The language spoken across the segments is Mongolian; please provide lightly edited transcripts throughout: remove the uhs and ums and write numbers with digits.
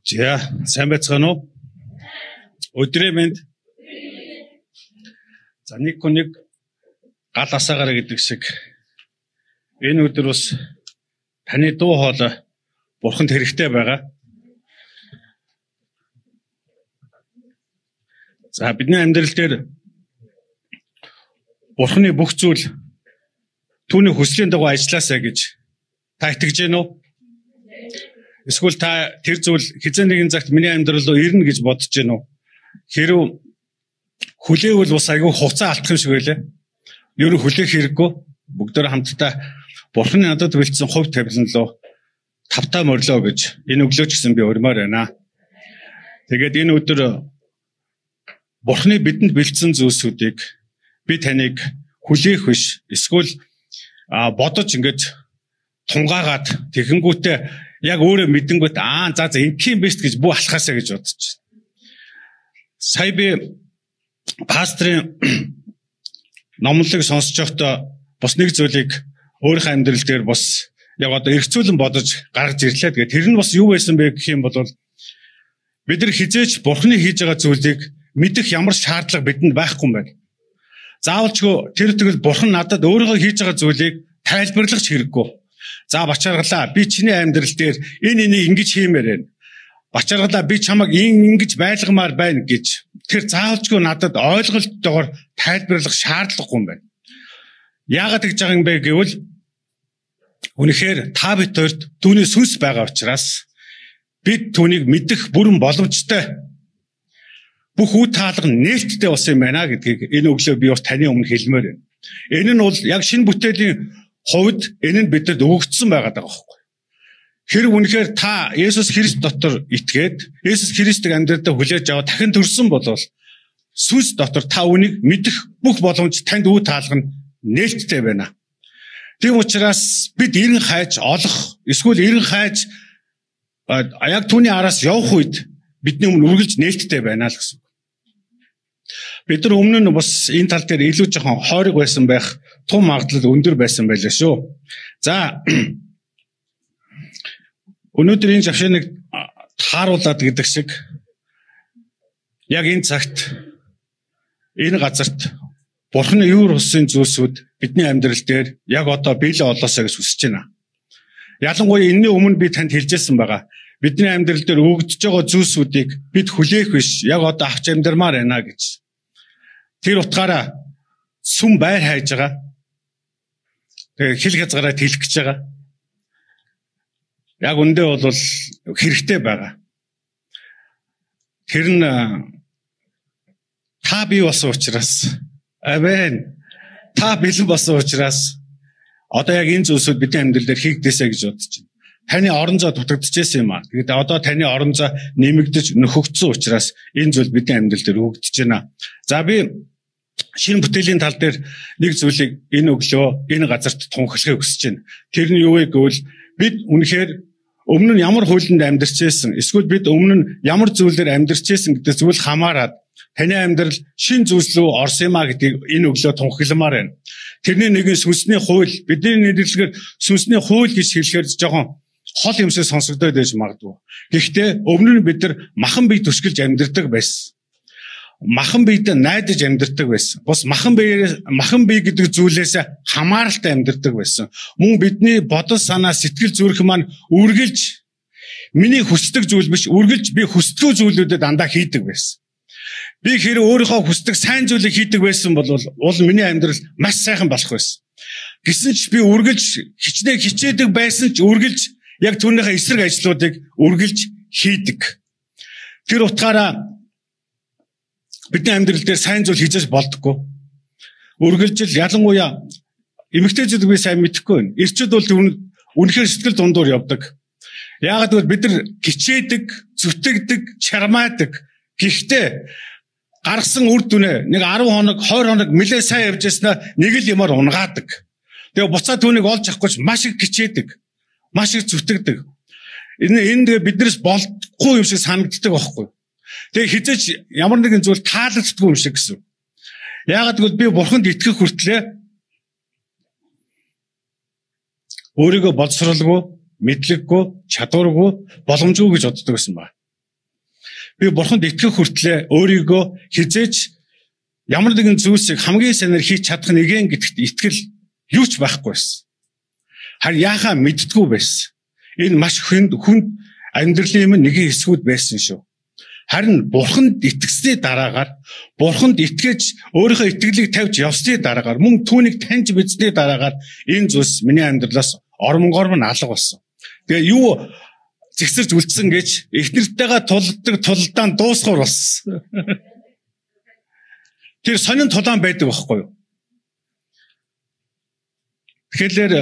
За, сайн байцгаана уу? Өдрөө мэнд. За, нэг хүнийг гал асаагаараа гэдэг шиг энэ өдөр бас таны дуу хоолой Бурханд хэрэгтэй байгаа. За, бидний амьдрал дээр Бурханы бүх зүйл түүний хүслийн дагуу ажилласаа гэж та итгэж байна уу? Эсвэл та тэр зүйл хизээ нэгэн цагт миний амьдрал руу ирнэ гэж бодож байна уу? Хэрв хүлээвэл бас айгүй хугацаа алдах юм шиг байлаа. Юу хүлээх хэрэггүй. Бүгдөө хамтдаа Бурханы надад бэлдсэн хувь тавилан руу тавтаа морилоо гэж энэ өглөө ч гэсэн би урмаар байна. Тэгээд энэ өдөр Бурханы бидэнд бэлдсэн зүйлсүүдийг би таныг хүлээх биш. Эсвэл бодож ингэж тунгаагаад тэгэнгүүтээ яг өөрөө мэдэнгүүт за ингэх юм биш гэж бүү алхаасаа гэж бодож байна. Сая би пастрын номлог сонсож байхдаа бас нэг зүйлийг өөрийнхөө амьдрал дээр бас яг одоо эргцүүлэн бодож гаргаж ирлээ. Тэгээд тэр нь бас юу байсан бэ гэх юм бол бид нар хизээч Бурханы хийж байгаа зүйлийг мэдэх ямар шаардлага бидэнд байхгүй юм байна. Заавалчгүй тэр тэгвэл Бурхан надад өөрийнхөө хийж байгаа зүйлийг тайлбарлах хэрэггүй. За бачааргалаа би чиний амьдрал дээр энийг ингэж хиймээр байна. Бачааргалаа би чамайг ингэж байлгамаар байна гэж тэр заавалчгүй надад ойлголттойгоор тайлбарлах шаардлагагүй юм байна. Яагаад гэж байгаа юм бэ гэвэл үнэхээр та бид хоёрт түүний сүнс байгаа учраас бид түүнийг мэдэх бүрэн боломжтой. Бүх үе таалга нээлттэй болсон юм байна гэдгийг энэ өглөө би бас таны өмнө хэлмээр байна. Энэ нь бол яг шинэ бүтээлийн хувьд энэ нь бидэд өгөгдсөн байгаа даа байхгүй. Хэрэг үнэхээр та Есүс Христ дотор итгээд Есүс Христийг амьдралдаа хүлээж аваад дахин төрсөн бол сүнс дотор та үнийг мэдэх бүх боломж танд үе таалга нь нээлттэй байна. Тийм учраас бид эрен хайж олох эсвэл эрен хайж яг түүний араас явах үед бидний өмнө үргэлж нээлттэй байна л гэсэн. Бид нар өмнө нь бас энэ тал дээр илүү жоохон хойрог байсан байх тун магадлал өндөр байсан байлаа шүү. За өнөөдөр энэ завшааныг тааруулаад гэдэг шиг яг энэ цагт энэ газарт Бурханы юур усын зүйлсүүд бидний амьдрал дээр яг одоо биелээ олоосаа гэж хүсэж байна. Ялангуяа энэний өмнө би танд хэлжсэн байгаа. Бидний амьдрал дээр өгөгдөж байгаа зүйлсүүдийг бид хүлээх биш, яг одоо авч амьдрмаар байна гэж. Тэр утгаараа сүм байр хайж байгаа. Тэгээ хил хязгаараа тэлэх гэж байгаа. Яг үндэ бол хэрэгтэй байгаа. Тэр нь та бий болсон учраас амен. Та бэлэн болсон учраас одоо яг энэ зүйлсүүд бидний амьдрал дээр хийгдээсэй гэж бодож байна. Таны орон зай дутагдчихсэн юм аа. Тэгээд одоо таны орон зай нэмэгдэж нөхөгдсөн учраас энэ зүйл бидний амьдрал дээр өгөгдөж байна. За би шинэ бүтээлийн тал дээр нэг зүйлийг энэ өглөө энэ газарт тунхаглахыг хүсэж байна. Тэр нь юу вэ гэвэл бид үнэхээр өмнө нь ямар хуулинд амьдарч байсан, эсвэл бид өмнө нь ямар зүйлээр амьдарч байсан гэдэг зүйл хамаарат таны амьдрал шинэ зүйлс рүү орсон юм а гэдгийг энэ өглөө тунхагламаар байна. Тэрний нэгэн сүнсний хууль, бидний нэрлэгээр сүнсний хууль гэж хэлэхээр жоохон хол юмсээ сонсогдоод байж магадгүй. Гэхдээ өмнө нь бид нар махан бие төсгөлж амьдардаг байсан. Махан биедээ найдаж амьдардаг байсан. Бус махан бие гэдэг зүйлээс хамааралтай амьдардаг байсан. Мөн бидний бодол санаа сэтгэл зүрх маань үргэлж миний хүсдэг зүйл биш, үргэлж би хүсдэг зүйлүүдэд дандаа хийдэг байсан. Би хэрэг өөрийнхөө хүсдэг сайн зүйлийг хийдэг байсан бол миний амьдрал маш сайхан болох байсан. Гэсэн ч би үргэлж хичээдэг байсан ч үргэлж яг түүнийхээ эсрэг ажлуудыг үргэлж хийдэг. Тэр утгаараа бидний амьдрал дээр сайн зүйл хийж болдоггүй. Үргэлжил ялангуяа эмэгтэйчүүд би сайн мэдэхгүй байна. Эрчүүд бол үнэхээр сэтгэл дундуур явдаг. Яагаад гэвэл бид нар хичээдэг, зүтгэдэг, чармаадаг. Гэхдээ гаргасан үр дүнээ нэг 10 хоног, 20 хоног нэлээ сайн явж яснаа нэг л юмар унгаадаг. Тэгээ буцаа түүнийг олж авахгүй ч маш их хичээдэг, маш их зүтгэдэг. Энэ биднээс болдохгүй юм шиг санагддаг байхгүй. Тэгээ хизээч ямар нэгэн зүйл таалагддаггүй юм шиг гэсэн. Яагаад гэвэл би Бурханд итгэх хүртлээр өөрийгөө боловсруулгүй, мэдлэггүй, чадваргүй, боломжгүй гэж боддог байсан ба. би бурханд итгэх хүртлээр өөрийгөө хизээж ямар нэгэн зүйлсийг хамгийн сайнаар хийж чадах нэгэн гэдэгт итгэл юу ч байхгүй байсан. Харин яахаа мэддэггүй байсан. Энэ маш хүнд амьдралын юм нэгэн хэсгүүд байсан шүү. Харин бурханд итгэсний дараагаар, бурханд итгэж өөрийнхөө итгэлийг тавьж явсны дараагаар, мөн түүнийг таньж мэдсний дараагаар энэ зүйлс миний амьдралаас ормонгорм нь алга болсон. Тэгээ юу зэгсэрч үлдсэн гэж эхнэртэйгээ тулалдаан дуусгаар болсон. Тэр сонин тулаан байдаг байхгүй юу? Тэгэхээр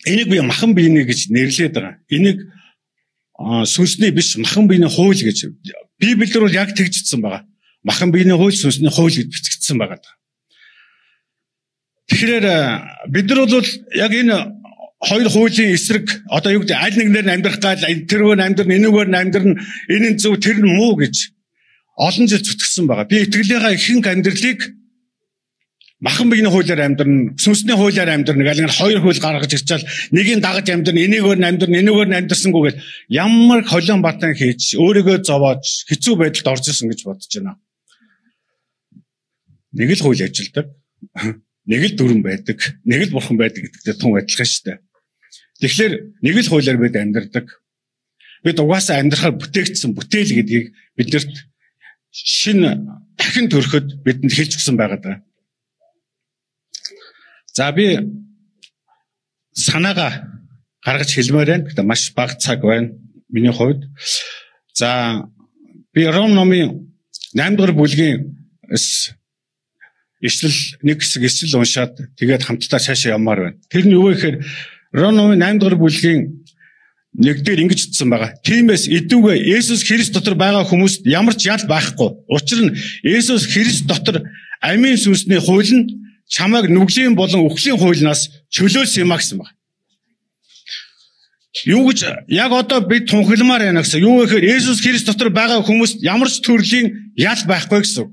энийг би махан биений гэж нэрлээд байгаа. Энийг сүнсний биш махан биений хууль гэж Библиэр бол яг тэгжсэн байгаа. Махан биений хууль, сүнсний хууль гэж бичигдсэн байгаа. Тэгэхээр бид нар бол яг энэ хоёр хуулийн эсрэг одоо юу гэдэг аль нэгнээр амьдрах гал тэргээр амьдрын энэгээр амьдрын энэ нь зөв тэр нь муу гэж олон жил зүтгэсэн байгаа. Би итгэлийнхаа ихэнх амьдралыг махан биений хуулиар амьдрна, сүнсний хуулиар амьдрна гэх хоёр хууль гаргаж ирчаал нэгийг дагаж амьдрна, энийгээр амьдрна, энийгээр амьдрсангүй гэж ямар холион батан хийж өөрийгөө зовоож хэцүү байдалд орж ирсэн гэж бодож байна. Нэг л хууль ажилдаг, нэг л дүрэн байдаг, нэг л бурхан байдаг гэдэгтэй тун адилхан шүү дээ. Тэгэхээр нэг л хуулиар бид амьдрдаг. Бид угаасаа амьдрахаар бүтээгдсэн бүтээл гэдгийг биднэрт шинэ дахин төрөхөд бидэнд хэлж өгсөн байгаа даа. За би санаагаа гаргаж хэлмээр байна. Гэхдээ маш бага цаг байна миний хувьд. За би Ром номын 8 дугаар бүлгийн ишлэл нэг хэсэг ишлэл уншаад тэгээд хамтдаа цаашаа явмаар байна. Тэр нь юу вэ гэхээр Ром номын 8 дугаар бүлгийн 1 дээр ингэж хэлсэн байгаа. Тиймээс идүүгээ Есүс Христ дотор байгаа хүмүүст ямар ч ял байхгүй. Учир нь Есүс Христ дотор амийн сүнсний хууль нь чамайг нүглийн болон үхлийн хуулиас чөлөөлсөн юм а гэсэн байна. Юу гэж яг одоо бид тунхилмаар байна гэсэн. Юу гэхээр Есүс Христ дотор байгаа хүмүүст ямар ч төрлийн ял байхгүй гэсэн.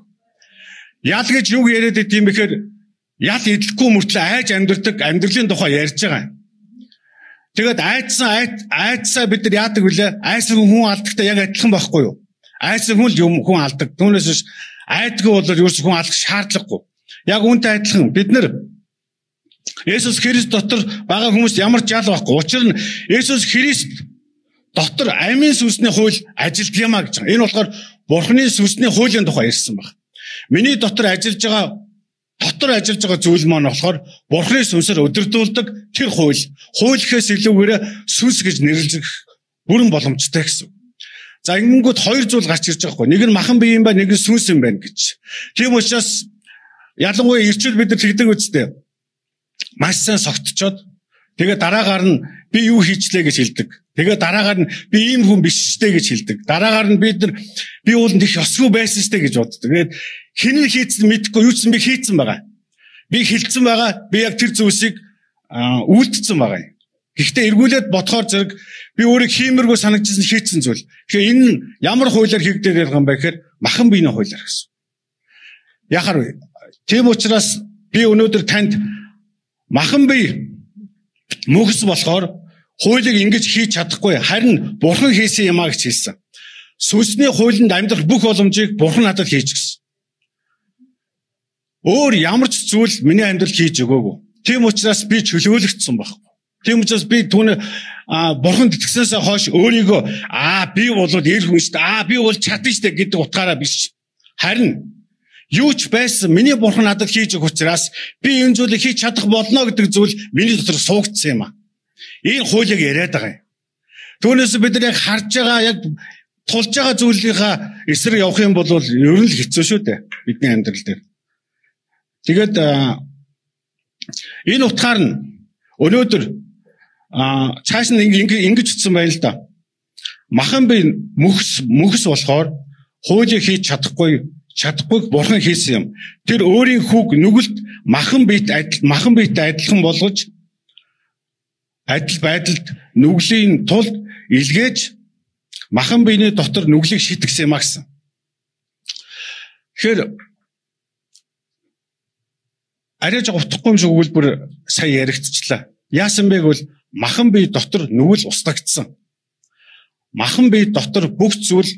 Ял гэж юу яриад байт юм бэхээр ял идэлгүй мөртлөө айж амьдрдаг амьдралын тухай ярьж байгаа. Тэгээд айдсаа бид нар яадаг вүлээ? Айсан хүн алдахтай яг адилхан байхгүй юу? Айсан хүн л хүн алдаг. Түүнээс биш айдгүй бол ерөөс хүн алдах шаардлагагүй. Яг үүнтэй адилхан бид нар Есүс Христ дотор байгаа хүмүүст ямар ч ял байхгүй. Учир нь Есүс Христ дотор амийн сүнсний хууль ажилд юм а гэж байгаа. Энэ болохоор Бурхны сүнсний хуулийн тухай ярьсан байна. Миний дотор ажиллаж байгаа зүйл маань болохоор Бурхны сүнсээр өдөрдүүлдэг тэр хууль. Хуулийнхээс илүүгээр сүнс гэж нэрлэх бүрэн боломжтой гэсэн. За ингэнгүүт хоёр зүйл гарч ирж байгаа хгүй. Нэг нь махан бие юм ба, нэг нь сүнс юм байна гэж. Тийм учраас ялангуяа ирчүүл бид нар тэгдэг үстэй. Маш сайн согтчоод тэгээ дараагаар нь би юу хийчлээ гэж хэлдэг. Тэгээ дараагаар нь би ийм хүн биш штэ гэж хэлдэг. Дараагаар нь бид нар би ууланд их ёсгүй байсан штэ гэж боддог. Тэгээд хинэн хийцэн мэдхгүй юу ч би хийцэн байгаа. Би хилцэн байгаа. Би яг тэр зүйлсийг үйлдэлсэн байгаа юм. Гэхдээ эргүүлээд бодохоор зэрэг би өөрийг хиймэргүй санагдсан хийцэн зүйл. Тэгэхээр энэ ямар хуулиар хийгдээд байгаа юм бэ гэхээр махан биений хуулиар гэсэн. Яхаар вэ? Тийм учраас би өнөөдөр танд махан бие мөхс болохоор хуулийг ингэж хийж чадахгүй. Харин Бурхан хийсэн юм а гэж хэлсэн. Сүнсний хуулинд амьдрах бүх боломжийг Бурхан надад хийж гисэн. Өөр ямар ч зүйл миний амьдрал хийж өгөөгүй. Тийм учраас би чөлөөлөгдсөн байхгүй. Тийм учраас би түүний Бурханд итгэснээс хойш өөрийгөө би бол эр хүн шүү дээ. Би бол чадна шүү дээ гэдэг утгаараа биш. Харин юу ч байсан миний Бурхан надад хийж өгөх учраас би энэ зүйлийг хийж чадах болно гэдэг зүйл миний дотор суугдсан юм а. Энэ хуулийг яриад байгаа юм. Түүнээс бид нар яг харж байгаа яг тулж байгаа зүйлийнхаа эсрэг явах юм бол ер нь л хэцүү шүү дээ бидний амьдрал дээр. Тэгээд энэ утгаар нь өнөөдөр цааш нь ингэж утсан байна л да. Махан бие мөхс болохоор хуулийг хийж чадахгүй Бурхан хийсэн юм. Тэр өөрийн хүүг нүгэлт махан биетэй адилхан болгож адил байдалд нүглийн тулд илгээж махан биений дотор нүглийг шитгсэн юм а гэсэн. Тэгэхээр арай жоо утгахгүй юм шиг өгүүлбэр сая яригдчихлаа. Яасан бэ гэвэл махан бие дотор нүгэл устгагдсан. Махан бие дотор бүх зүйл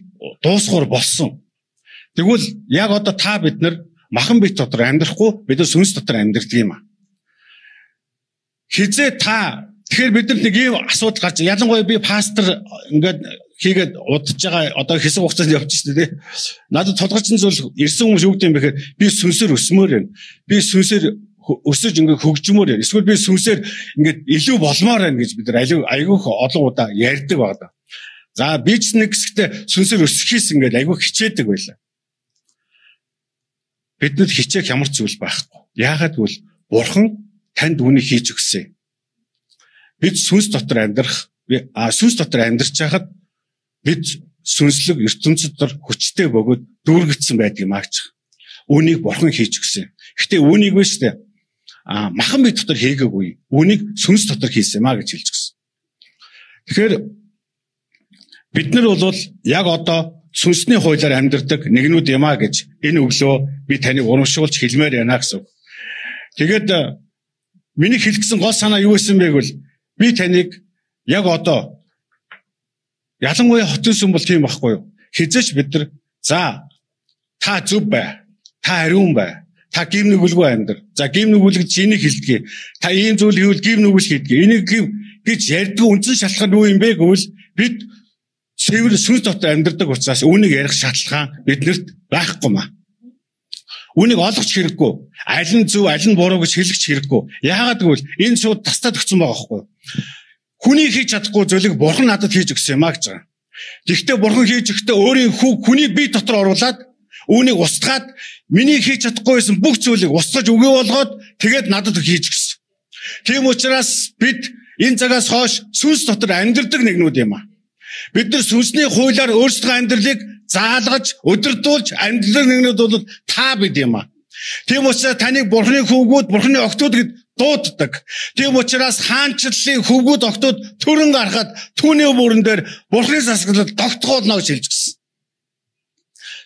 дуусгуур болсон. Тэгвэл яг одоо та бид нар махан бит дотор амьдрахгүй бид нар сүнс дотор амьдрдаг юм аа. Хизээ та тэгэхээр бид нар нэг ийм асуудал гарч ялангуяа би пастор ингээд хийгээд удаж байгаа одоо хэсэг хугацаанд явчихсан тий. Надад толгойчсон зүйл ирсэн хүмүүс юу гэдэг юм бэ гэхээр би сүнсээр өсмөр байна. Би сүнсээр өсөж ингээд хөгжмөр байна. Эсвэл би сүнсээр ингээд илүү болмоор байна гэж бид нар айгүйх олон удаа ярьдаг байна. За би ч нэг хэсэгтээ сүнсээр өсөхийс ингээд айгүйх хичээдэг байлаа. Биднэд хичээх ямар зүйл байхгүй. Яагаад гэвэл Бурхан танд үүнийг хийж өгсөн. Бид сүнс дотор амьдрах, сүнс дотор амьдарч байхад бид сүнслэг ертөнцид дотор хүчтэй бөгөөд дүүргэгдсэн байдаг юм аач. Үүнийг Бурхан хийж өгсөн. Гэхдээ үүнийг биш үү? Махан бит дотор хийгээгүй. Үүнийг сүнс дотор хийсэн юм аа гэж хэлж өгсөн. Тэгэхээр бид нар бол яг одоо сүнсний хуулиар амьдардаг нэгнүүд юм аа гэж энэ өглөө би таныг урамшуулж хэлмээр байна гэсэн. Тэгээд миний хэлсэн гол санаа юу байсан бэ гэвэл би таныг яг одоо ялангуяа хотын сүм бол тийм байхгүй юу? Хизээч бид нар за та зөв бай. Та ариун бай. Та гим нүгэлгүй амьдр. За гим нүгэлг чиний хэлдэг. Та ийм зүйл хийвэл гим нүгэл хийдэг. Энийг гэж ярьдаг үндсэн шалтгаан юу юм бэ гэвэл бид цэвэр сүнс дотор амьдардаг учраас үүнийг ярих шалтгаан биднэрт байхгүй маа. Үүнийг олгоч хэрэггүй. Аль нь зөв, аль нь буруу гэж хэлэх хэрэггүй. Яагаад гэвэл энэ шууд тастад өгсөн байгаа байхгүй юу? Хүний хийж чадахгүй зүйлийг Бурхан надад хийж өгсөн юм аа гэж байгаа. Гэхдээ Бурхан хийж өгөхдөө өөрийн хүний бие дотор оруулаад үүнийг устгаад миний хийж чадахгүй байсан бүх зүйлийг устгаж өгөө болгоод тэгээд надад хийж өгсөн. Тийм учраас бид энэ цагаас хойш сүнс дотор амьдардаг нэгнүүд юм аа. Бид нар сүнсний хуулиар өөрсдөө амьдралыг заалгаж, өдөрдүүлж амьдрал нэгнүүд бол та бид юм аа. Тийм учраас таныг Бурханы хөвгүүд, Бурханы огтуд гэд дууддаг. Тийм учраас хаанчлалын хөвгүүд огтуд төрөн гарахад түүний бүрэн дээр Бурханы засаглал тогтгоолно гэж хэлж гисэн.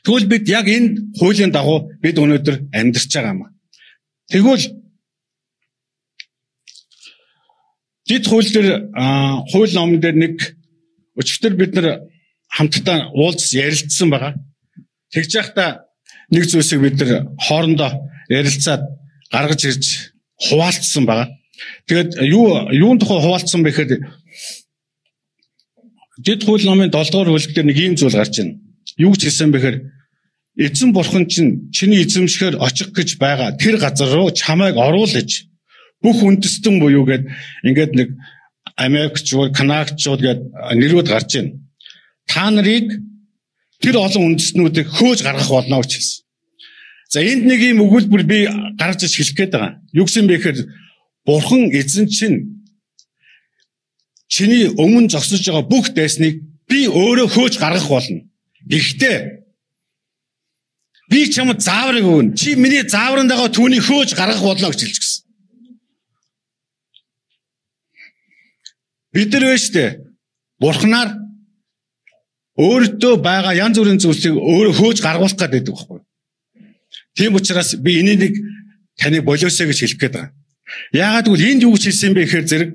Тэгвэл бид яг энэ хуулийн дагуу бид өнөөдөр амьдарч байгаа юм аа. Тэгвэл дид хууль дээр хууль номон дээр нэг өчигдөр бид нар хамтдаа уулз ярилцсан байгаа. Тэгж яхта нэг зүйлсийг бид нар хоорондоо ярилцаад гаргаж ирж хуваалцсан байгаа. Тэгээд юун тухай хуваалцсан бэ гэхээр дид хууль номын 7 дугаар бүлэг дээр нэг ийм зүйл гарч байна. Юу гэж хэлсэн бэ гэхээр эзэн Бурхан чинь чиний эзэмшгээр очих гэж байгаа тэр газар руу чамайг оруулж бүх үндэстэн буюу гээд ингээд нэг Америкчууд, Канадчууд гээд нэрүүд гарч байна. Та нарыг тэр олон үндэстнүүдийг хөөж гаргах болно гэж хэлсэн. За энд нэг юм өгүүлбэр би гаргаж иж хэлэх гээд байгаа. Юу гэсэн бэ гэхээр Бурхан эзэн чинь чиний өмнө зогсож байгаа бүх дайсныг би өөрөө хөөж гаргах болно. Гэхдээ би чамд зааврыг өгнө. Чи миний заавранд байгаа түүнийг хөөж гаргах болно гэж хэлж гисэн. Бид нар вэ штэ Бурханаар өөртөө байгаа янз бүрийн зүйлсийг өөрөө хөөж гаргуулах гэдэг байхгүй. Тийм учраас би энийг таны болиосоо гэж хэлэх гээд байгаа. Яагаад гэвэл энд юу гэж хэлсэн бэ гэхээр зэрэг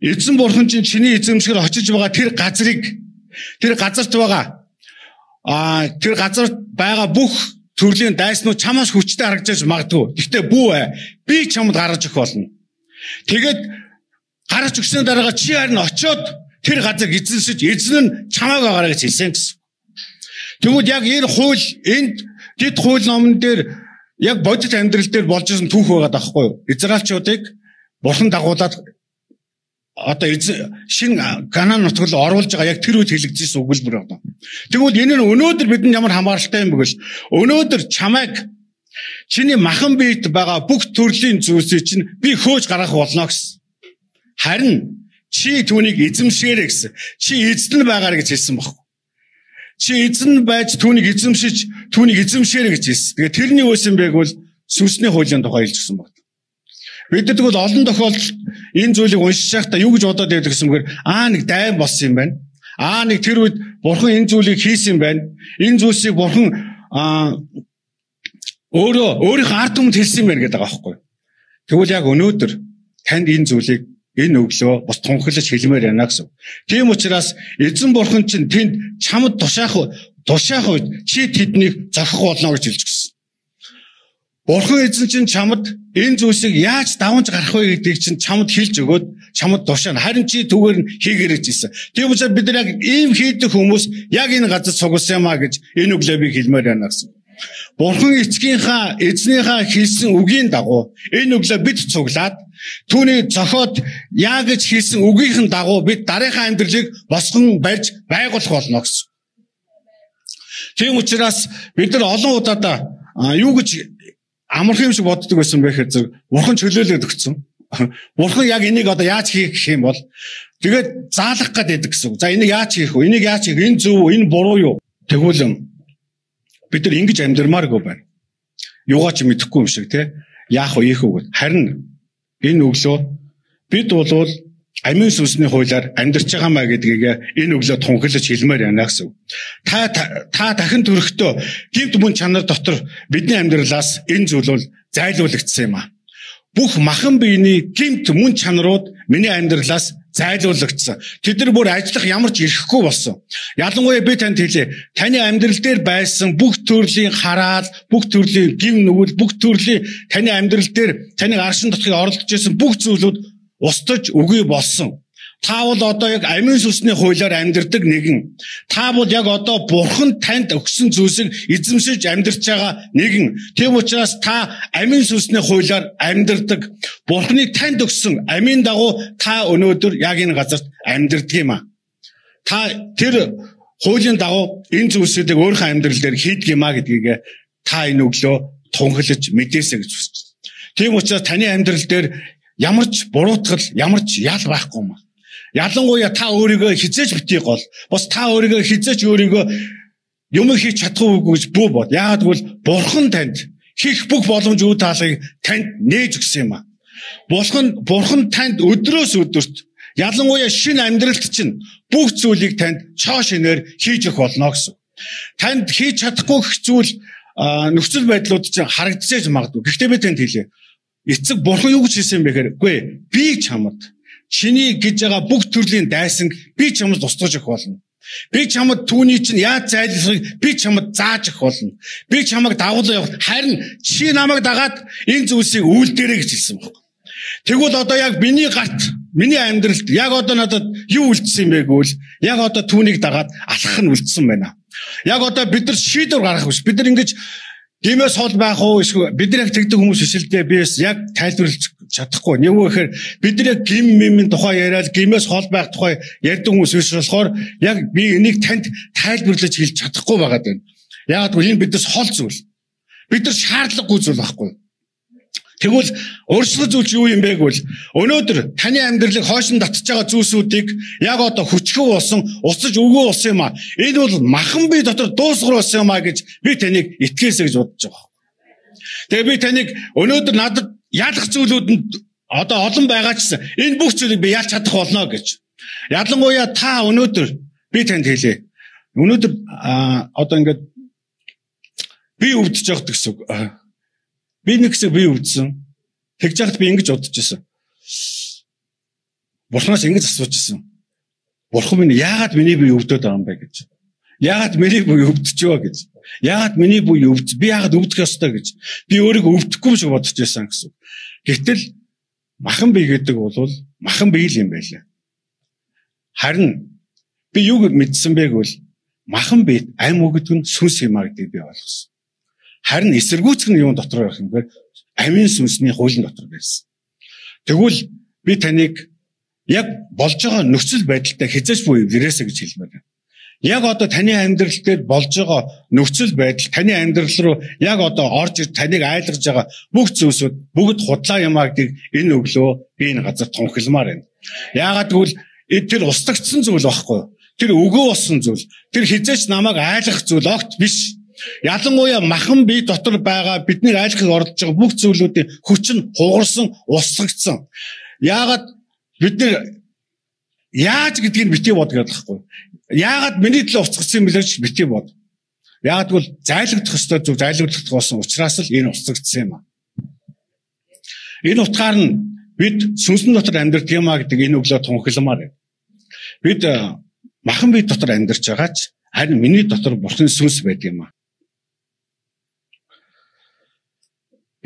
эзэн Бурхан чинь чиний эзэмшгээр очиж байгаа тэр газрыг тэр газарт байгаа тэр газарт байгаа бүх төрлийн дайснууд чамаас хүчтэй харагдаж магадгүй. Гэхдээ бүү би чамд гаргаж өгөх болно. Тэгээд гаргаж өгсөн дараа чи харин очиод тэр газар эзэнсэж эзэн нь чамааг агараа гэж хэлсэн гэсэн. Тэгвэл яг энэ хууль энд дид хууль номон дээр яг бодит амьдрал дээр болж ирсэн түүх байгаа даахгүй юу? Израильчуудыг Бурхан дагуулад одоо шин Канаан нутагт оруулж байгаа яг тэр үед хэлэгдсэн өгүүлбэр байна. Тэгвэл энэ нь өнөөдөр бидэнд ямар хамааралтай юм бэ гэвэл өнөөдөр чамайг чиний махан биет байгаа бүх төрлийн зүйлсийг чинь би хөөж гаргах болно гэсэн. Харин чи түүнийг эзэмшээрэй гэсэн. Чи эзэн байгаарэ гэж хэлсэн баггүй. Чи эзэн байж түүнийг эзэмшээрэй гэж хэлсэн. Тэгээ тэрний үсэн байг бол сүнсний хуулийн тухай хэлж гисэн баг. Бид нар тэгвэл олон тохиолдолд энэ зүйлийг уншиж байхдаа юу гэж бодоод байдаг гэсэн мөр нэг дайм болсон юм байна. Нэг тэр үед Бурхан энэ зүйлийг хийсэн юм байна. Энэ зүйлсийг Бурхан өөрийнхөө ард түмэнд хэлсэн юм байна гэдэг байгаа байхгүй. Тэгвэл яг өнөөдөр танд энэ зүйлийг энэ өглөө бас тунхаглаж хэлмээр байна гэсэн. Тийм учраас эзэн бурхан чинь тэнд чамд тушаах үед чи тэднийг зохих болно гэж хэлж гисэн. Бурхан эзэн чинь чамд энэ зүйлсийг яаж давж гарах вэ гэдгийг чинь чамд хэлж өгөөд чамд тушаана. Харин чи түгээр нь хийгэрэж ирсэн. Тийм учраас бид нар яг ийм хийдэг хүмүүс яг энэ газар сугалсан юмаа гэж энэ өглөө би хэлмээр байна гэсэн. Бурхан эзнийхээ хэлсэн үгийн дагуу энэ өглөө бид цуглаад түүний зохиод яа гэж хэлсэн үгийнхэн дагуу бид дараагийн амьдралыг босгон барьж байгуулах болно гэсэн. Тийм учраас бид нар олон удаа юу гэж амархан юм шиг боддог байсан бэ гэхээр бурхан чөлөөлөд өгсөн. Бурхан яг энийг одоо яаж хийх гэх юм бол тэгээд заалах гэдэг гэсэн. За энийг яаж хийх вэ? Энийг яаж хийх? Энэ зөв, энэ буруу юу? Тэгвэл бид нар ингэж амьдрмааргүй байна. Юугаа ч мэдэхгүй юм шиг тий. Яах вэ, ийх үү гэд. Харин энэ өглөө бид бол амийн сүнсний хуулиар амьдарч байгаа маа гэдгийг энэ өглөө тунхаглаж хэлмээр байна гэсэн. Та дахин төрөхдөө гэмт мөн чанар дотор бидний амьдралаас энэ зүйл бол зайлуулагдсан юм аа. Бүх махан биений гэмт мөн чанарууд миний амьдралаас зайлуулагдсан. Тэд нар бүр ажиллах ямар ч ирэхгүй болсон. Ялангуяа би танд хэлье. Таны амьдрал дээр байсан бүх төрлийн хараал, бүх төрлийн гим нүгэл, бүх төрлийн таны амьдрал дээр таны аршин дотхыг оролдож байсан бүх зүйлүүд устж үгүй болсон. Та бол одоо яг амийн сүнсний хуулиар амьдардаг нэгэн. Та бол яг одоо бурхан танд өгсөн зүйлсийг эзэмшиж амьдарч байгаа нэгэн. Тийм учраас та амийн сүнсний хуулиар амьдардаг. Бурханы танд өгсөн амийн дагуу та өнөөдөр яг энэ газарт амьдардаг юм а. Та тэр хуулийн дагуу энэ зүйлсүүдийг өөрийнхөө амьдрал дээр хийдэг юм а гэдгийг та энэ өглөө тунхаглаж мэдээсэй гэж хүсэж байна. Тийм учраас таны амьдрал дээр ямар ч буруутгал, ямар ч ял байхгүй юм а. Ялангуяа та өөрийгөө хизээж битгий гол. Бас та өөрийгөө хизээж өөрийгөө юм хийж чадахгүй гэж бүү бод. Яагаад гэвэл бурхан танд хийх бүх боломж үе таалгыг танд нээж өгсөн юм а. Бурхан танд өдрөөс өдөрт ялангуяа шинэ амьдралд чинь бүх зүйлийг танд цоо шинээр хийж өгөх болно гэсэн. Танд хийж чадахгүй гэх зүйл нөхцөл байдлууд чинь харагдчихэж магадгүй. Гэхдээ би танд хэлье. Эцэг бурхан юу гэж хэлсэн бэ гэхээр үгүй би чамд чиний гэж байгаа бүх төрлийн дайсан би чамд устгаж өгөх болно. Би чамд түүний чинь яаж зайлсхийг би чамд зааж өгөх болно. Би чамайг дагуулж явах. Харин чи намайг дагаад энэ зүйлсийг үйлдээрэй гэж хэлсэн байна. Тэгвэл одоо яг миний гарт, миний амьдралд яг одоо надад юу үлдсэн юм бэ гэвэл яг одоо түүнийг дагаад алхах нь үлдсэн байна. Яг одоо бид нар шийдвэр гаргах биш. Бид нар ингэж гимээс хол байх уу эсвэл бид нар яг тэгдэг хүмүүс биш л дээ. Би яг тайлбарлаж чадахгүй. Нэг үү гэхээр бид нар яг гимийн тухай яриад гимээс хол байх тухай ярьдаг хүмүүс биш болохоор яг би энийг танд тайлбарлаж хэлж чадахгүй байгаад байна. Яг гэвэл энэ биднес хол зүйл. Бид нар шаардлагагүй зүйл байхгүй. Тэгвэл өөрчлөх зүйл юу юм бэ гэвэл өнөөдөр таны амьдралыг хойшин татж байгаа зүйлсүүдийг яг одоо хүчгүй болсон, уцаж өгөө болсон юм а. Энэ бол махан бие дотор дуусгар болсон юм а гэж би таныг итгэхээсэй гэж бодож байгаа. Тэгээ би таныг өнөөдөр надад ялах зүйлүүдэнд одоо олон байгаа ч энэ бүх зүйлийг би ялж чадах болно гэж. Ялангуяа та өнөөдөр би танд хэлье. Өнөөдөр одоо ингээд би өвдөж явах гэсэн үг. Би нэг хэсэг би өвдсөн. Тэгж яхад би ингэж бодож байсан. Бурханаас ингэж асууж байсан. Бурхан минь яагаад миний бие өвдөд байгаа юм бэ гэж. Яагаад миний бие өвдөж байгаа гэж. Яагаад миний бие өвдөж би яагаад өвдөх ёстой гэж. Би өөрийгөө өвдөхгүй шиг бодож байсан гэсэн. Гэтэл махан бие гэдэг бол махан бие л юм байлаа. Харин би юу мэдсэн бэ гэвэл махан бие ам өгдөг нь сүнс юм а гэдгийг би ойлгосон. Харин эсэргүүцэх нь юу дотор байх юм бэ? Амийн сүнсний хуулийн дотор байсан. Тэгвэл би таныг яг болж байгаа нөхцөл байдалтай хязгаарч буй ирээсэй гэж хэлмээр байна. Яг одоо таны амьдрал дээр болж байгаа нөхцөл байдал таны амьдрал руу яг одоо орж ир таныг айлгаж байгаа бүх зүйлсүүд бүгд худлаа юм а гэдгийг энэ өглөө би энэ газар тунхилмаар байна. Яагаад гэвэл тэр устгагдсан зүйл байхгүй. Тэр өгөө болсон зүйл. Тэр хязгаарч намайг айлгах зүйл огт биш. Ялангуяа махан бие дотор байгаа бидний айлхыг оролдож байгаа бүх зүйлүүдийн хүч нь хугарсан, устгагдсан. Яагаад бид нар яаж гэдгийг битгий бодгээд байхгүй. Яагаад миний төлөө устгагдсан юм бэ гэж битгий бод. Яагаад гэвэл зайлагдах ёстой зайлагдах болсон учраас л энэ устгагдсан юм а. Энэ утгаар нь Бид сүнсэн дотор амьдардаг юм а гэдэг энэ өглөө тунхагламаар. Бид махан бие дотор амьдарч байгаа ч харин миний дотор Бурхны сүнс байдаг юм а.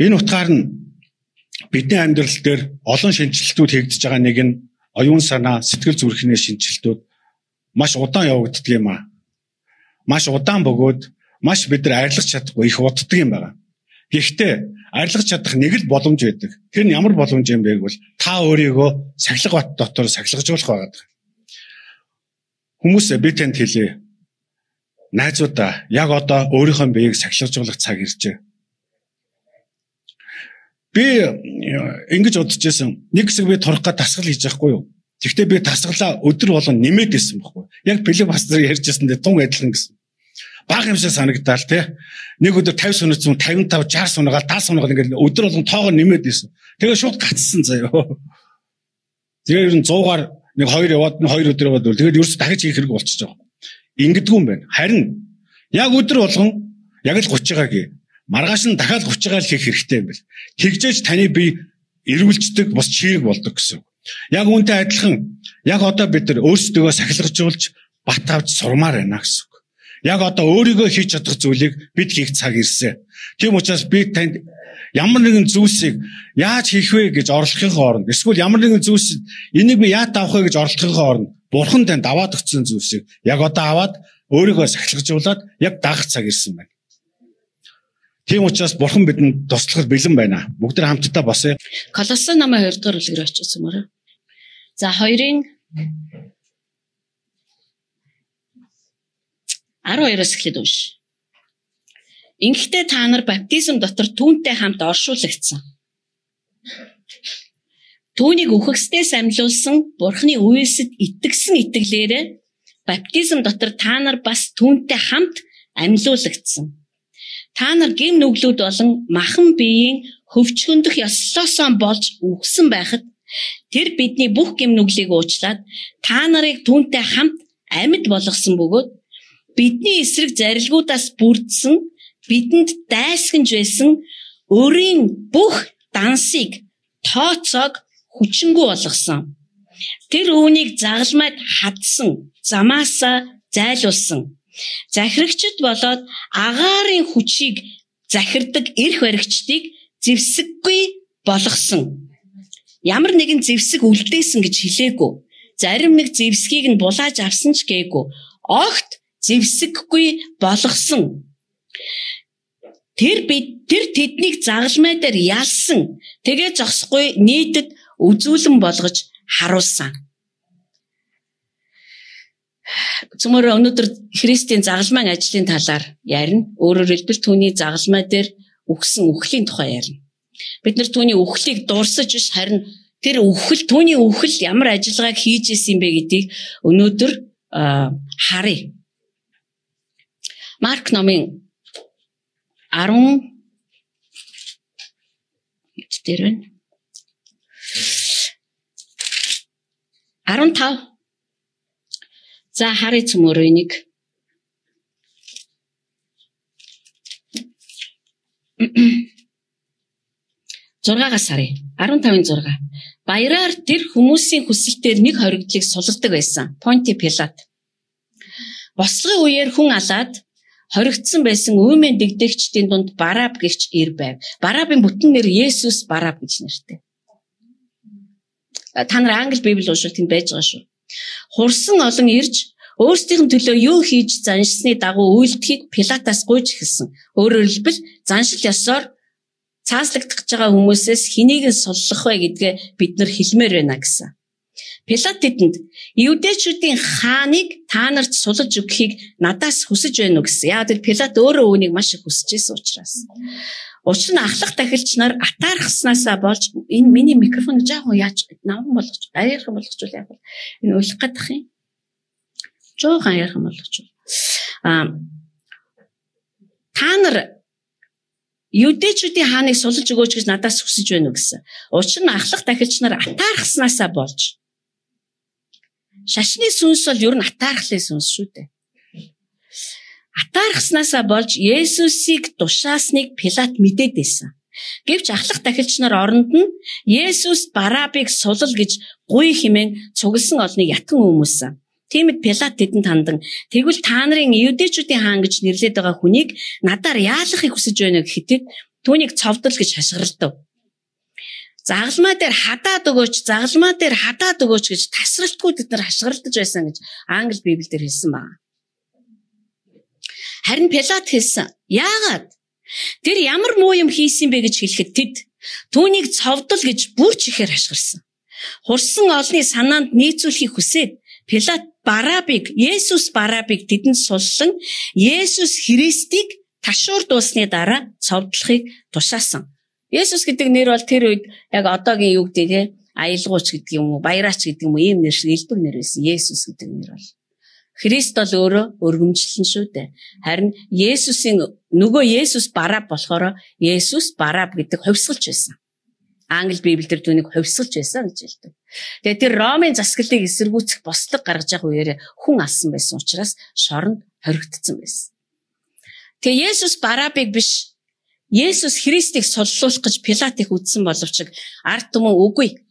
Энэ утгаар нь бидний амьдрал дээр олон шинжилтүүд хийгдэж байгаа нэг нь оюун санаа, сэтгэл зүрхний шинжилтүүд маш удаан явагддаг юм а. Маш удаан бөгөөд маш бид нар арилгах чадахгүй их уддаг юм байна. Гэхдээ арилгах чадах нэг л боломж байдаг. Тэр нь ямар боломж юм бэ гэвэл та өөрийгөө сахилга бат дотор сахилгажуулах байгаад. Хүмүүс би танд хэлье. Найзуудаа яг одоо өөрийнхөө биеийг сахилгажуулах цаг иржээ. Би ингэж бодож байсан. Нэг хэсэг би турах га тасгал хийж байхгүй юу? Тэгвэл би тасгалаа өдөр болгон нэмээд байсан байхгүй. Яг Филипп пастор ярьжсэндээ тун адилхан гэсэн. Бага юм шиг санагдаал тий. Нэг өдөр 50 сунаас 55 60 сунаагаал 70 сунаагаал ингээд өдөр болгон тоогоо нэмээд байсан. Тэгээ шууд гацсан заяа. Тэгээ ер нь 100-аар нэг 2 яваад 2 өдөр яваад тэгээд ерөөс дахиж хийх хэрэг болчихж байгаа. Ингэдэггүй юм байна. Харин яг өдөр болгон яг л 30-аагийн маргааш нь дахиад 30-аар хийх хэрэгтэй юм бэл. Тэгжээж таны бие эргүүлждэг бас чирэг болдог гэсэн. Яг үүнтэй адилхан яг одоо бид нар өөрсдөө сахилгажуулж бат авч сурмаар байна гэсэн. Яг одоо өөрийгөө хийж чадах зүйлийг бид хийх цаг ирсэн. Тийм учраас би танд ямар нэгэн зүйлсийг яаж хийх вэ гэж оролдохын хооронд эсвэл ямар нэгэн зүйлс энийг би яаж авах вэ гэж оролдохын хооронд Бурхан танд аваад өгсөн зүйлсийг яг одоо аваад өөрийгөө сахилгажуулаад яг даах цаг ирсэн байна. Тийм учраас Бурхан бидэнд туслахад бэлэн байна. Бүгд хамтдаа босъё. Колоссын намын 2 дугаар бүлгээр очиж юмараа. За 2-ын 12-оос эхлээд унш. Ингэхдээ та нар баптизм дотор түүнтэй хамт оршуулгдсан. Түүнийг үхэгсдээс амьлуулсан Бурхны үеэсэд итгэсэн итгэлээрээ баптизм дотор та нар бас түүнтэй хамт амьлуулгдсан. Та нар гэм нүглүүд болон махан биеийн хөвчгөндөх ёслосоо болж үхсэн байхад тэр бидний бүх гэм нүглийг уучлаад та нарыг түүнтэй хамт амьд болгосон бөгөөд бидний эсрэг зарилгуудаас бүрдсэн бидэнд дайсагнж байсан өөрийн бүх дансыг тооцоог хүчингү болгосон. Тэр үүнийг загалмайд хадсан, замаасаа зайлуулсан. Захирагчд болоод агаарын хүчийг захирдаг эрх баригчдыг зэвсэггүй болгосон. Ямар нэгэн зэвсэг үлдээсэн гэж хэлээгүй. Зарим нэг зэвсгийг нь булааж авсан ч гээгүй. Огт зэвсэггүй болгосон. Тэр тэднийг загалмай дээр ялсан. Тэгээ зогсохгүй нийтэд үзүүлэн болгож харуулсан. Цөмөр өнөөдөр Христийн загалмайн ажлын талаар ярина. Өөрөөр хэлбэл түүний загалмай дээр үхсэн үхлийн тухай ярина. Бид нар түүний үхлийг дурсаж биш харин тэр түүний үхэл ямар ажиллагааг хийж исэн бэ гэдгийг өнөөдөр харъя. Марк номын 10 дээр байна. 15. За харъя цөмөр энийг. Зургаагаас харъя. 15-ын 6. Баяраар тэр хүмүүсийн хүсэлтээр нэг хоригдлыг сулардаг байсан. Понти Пилат. Бослогын үеэр хүн алаад хоригдсан байсан үймэн дэгдэгчдийн дунд Бараб гэгч ир байв. Барабын бүтэн нэр Есүс Бараб гэж нэртэй. Та нар англи библи уншвал тэнд байж байгаа шүү. Хурсан олон ирж өөрсдийн төлөө юу хийж заншсны дагуу үйлдэхийг Пилатаас гуйж эхэлсэн. Өөрөөр хэлбэл заншил ёсоор цааслагдах байгаа хүмүүсээс хэнийг нь суллах вэ гэдгээ бид нар хэлмээр байна гэсэн. Пилат тэдэнд евдээчүүдийн хааныг та нарт сулж өгөхийг надаас хүсэж байна уу гэсэн. Яг тэр Пилат өөрөө үүнийг маш их хүсэж байсан учраас. Учир нь ахлах тахилч нар атаархснаасаа болж энэ миний микрофон жаахан яаж наван болгож аяархан болгочвол яг энэ уйлах гадах юм. Жаахан аяархан болгочвол. Та нар евдээчүүдийн хааныг сулж өгөөч гэж надаас хүсэж байна уу гэсэн. Учир нь ахлах тахилч нар атаархснаасаа болж. Шашны сүнс бол ер нь атаархлын сүнс шүү дээ. Атаархснаасаа болж Есүсийг тушаасныг Пилат мэдээд байсан. Гэвч ахлах дахилч нар оронд нь Есүс Барабыг сулал гэж гуй хэмээн цугласан олныг ятган өмүүлсэн. Тиймд Пилат тэдэнд хандан тэгвэл та нарын Евдээчүүдийн хаан гэж нэрлэдэг байгаа хүнийг надаар яалахыг хүсэж байна гэхэд түүнийг цовдол гэж хашгиралдав. Загалмаа дээр хадаад өгөөч гэж тасралтгүй тэд нар хашгиралдаж байсан гэж англи Библиэлд хэлсэн байна. Харин Пилат хэлсэн. Яагаад? Тэр ямар муу юм хийсэн бэ гэж хэлэхэд тэд түүнийг цовдол гэж бүр чихээр хашгирсан. Хурсан олны санаанд нийцүүлэхийг хүсээд Пилат Есүс Барабыг тэдэнд суллан Есүс Христийг ташуур дуусны дараа цовдлохыг тушаасан. Есүс гэдэг нэр бол тэр үед яг одоогийн юу гэдэг те аялгууч гэдэг юм уу, баяраач гэдэг юм уу ийм нэр шиг элбэг нэр байсан. Есүс гэдэг нэр бол. Христ бол өөрөө өргөмжлөн шүү дээ. Харин Есүсийн нөгөө Есүс Бараб болохоор Есүс Бараб гэдэг хувьсгалч байсан. Англи Библиэлд түүнийг хувьсгалч байсан гэж хэлдэг. Тэгээ тэр Ромын засаглалыг эсэргүүцэх бослог гаргаж явах үеэр хүн алсан байсан учраас шоронд хоригдсон байсан. Тэгээ Есүс Барабыг биш Есүс Христийг суллуулах гэж Пилат их үдсэн боловч ард түмэн үгүй.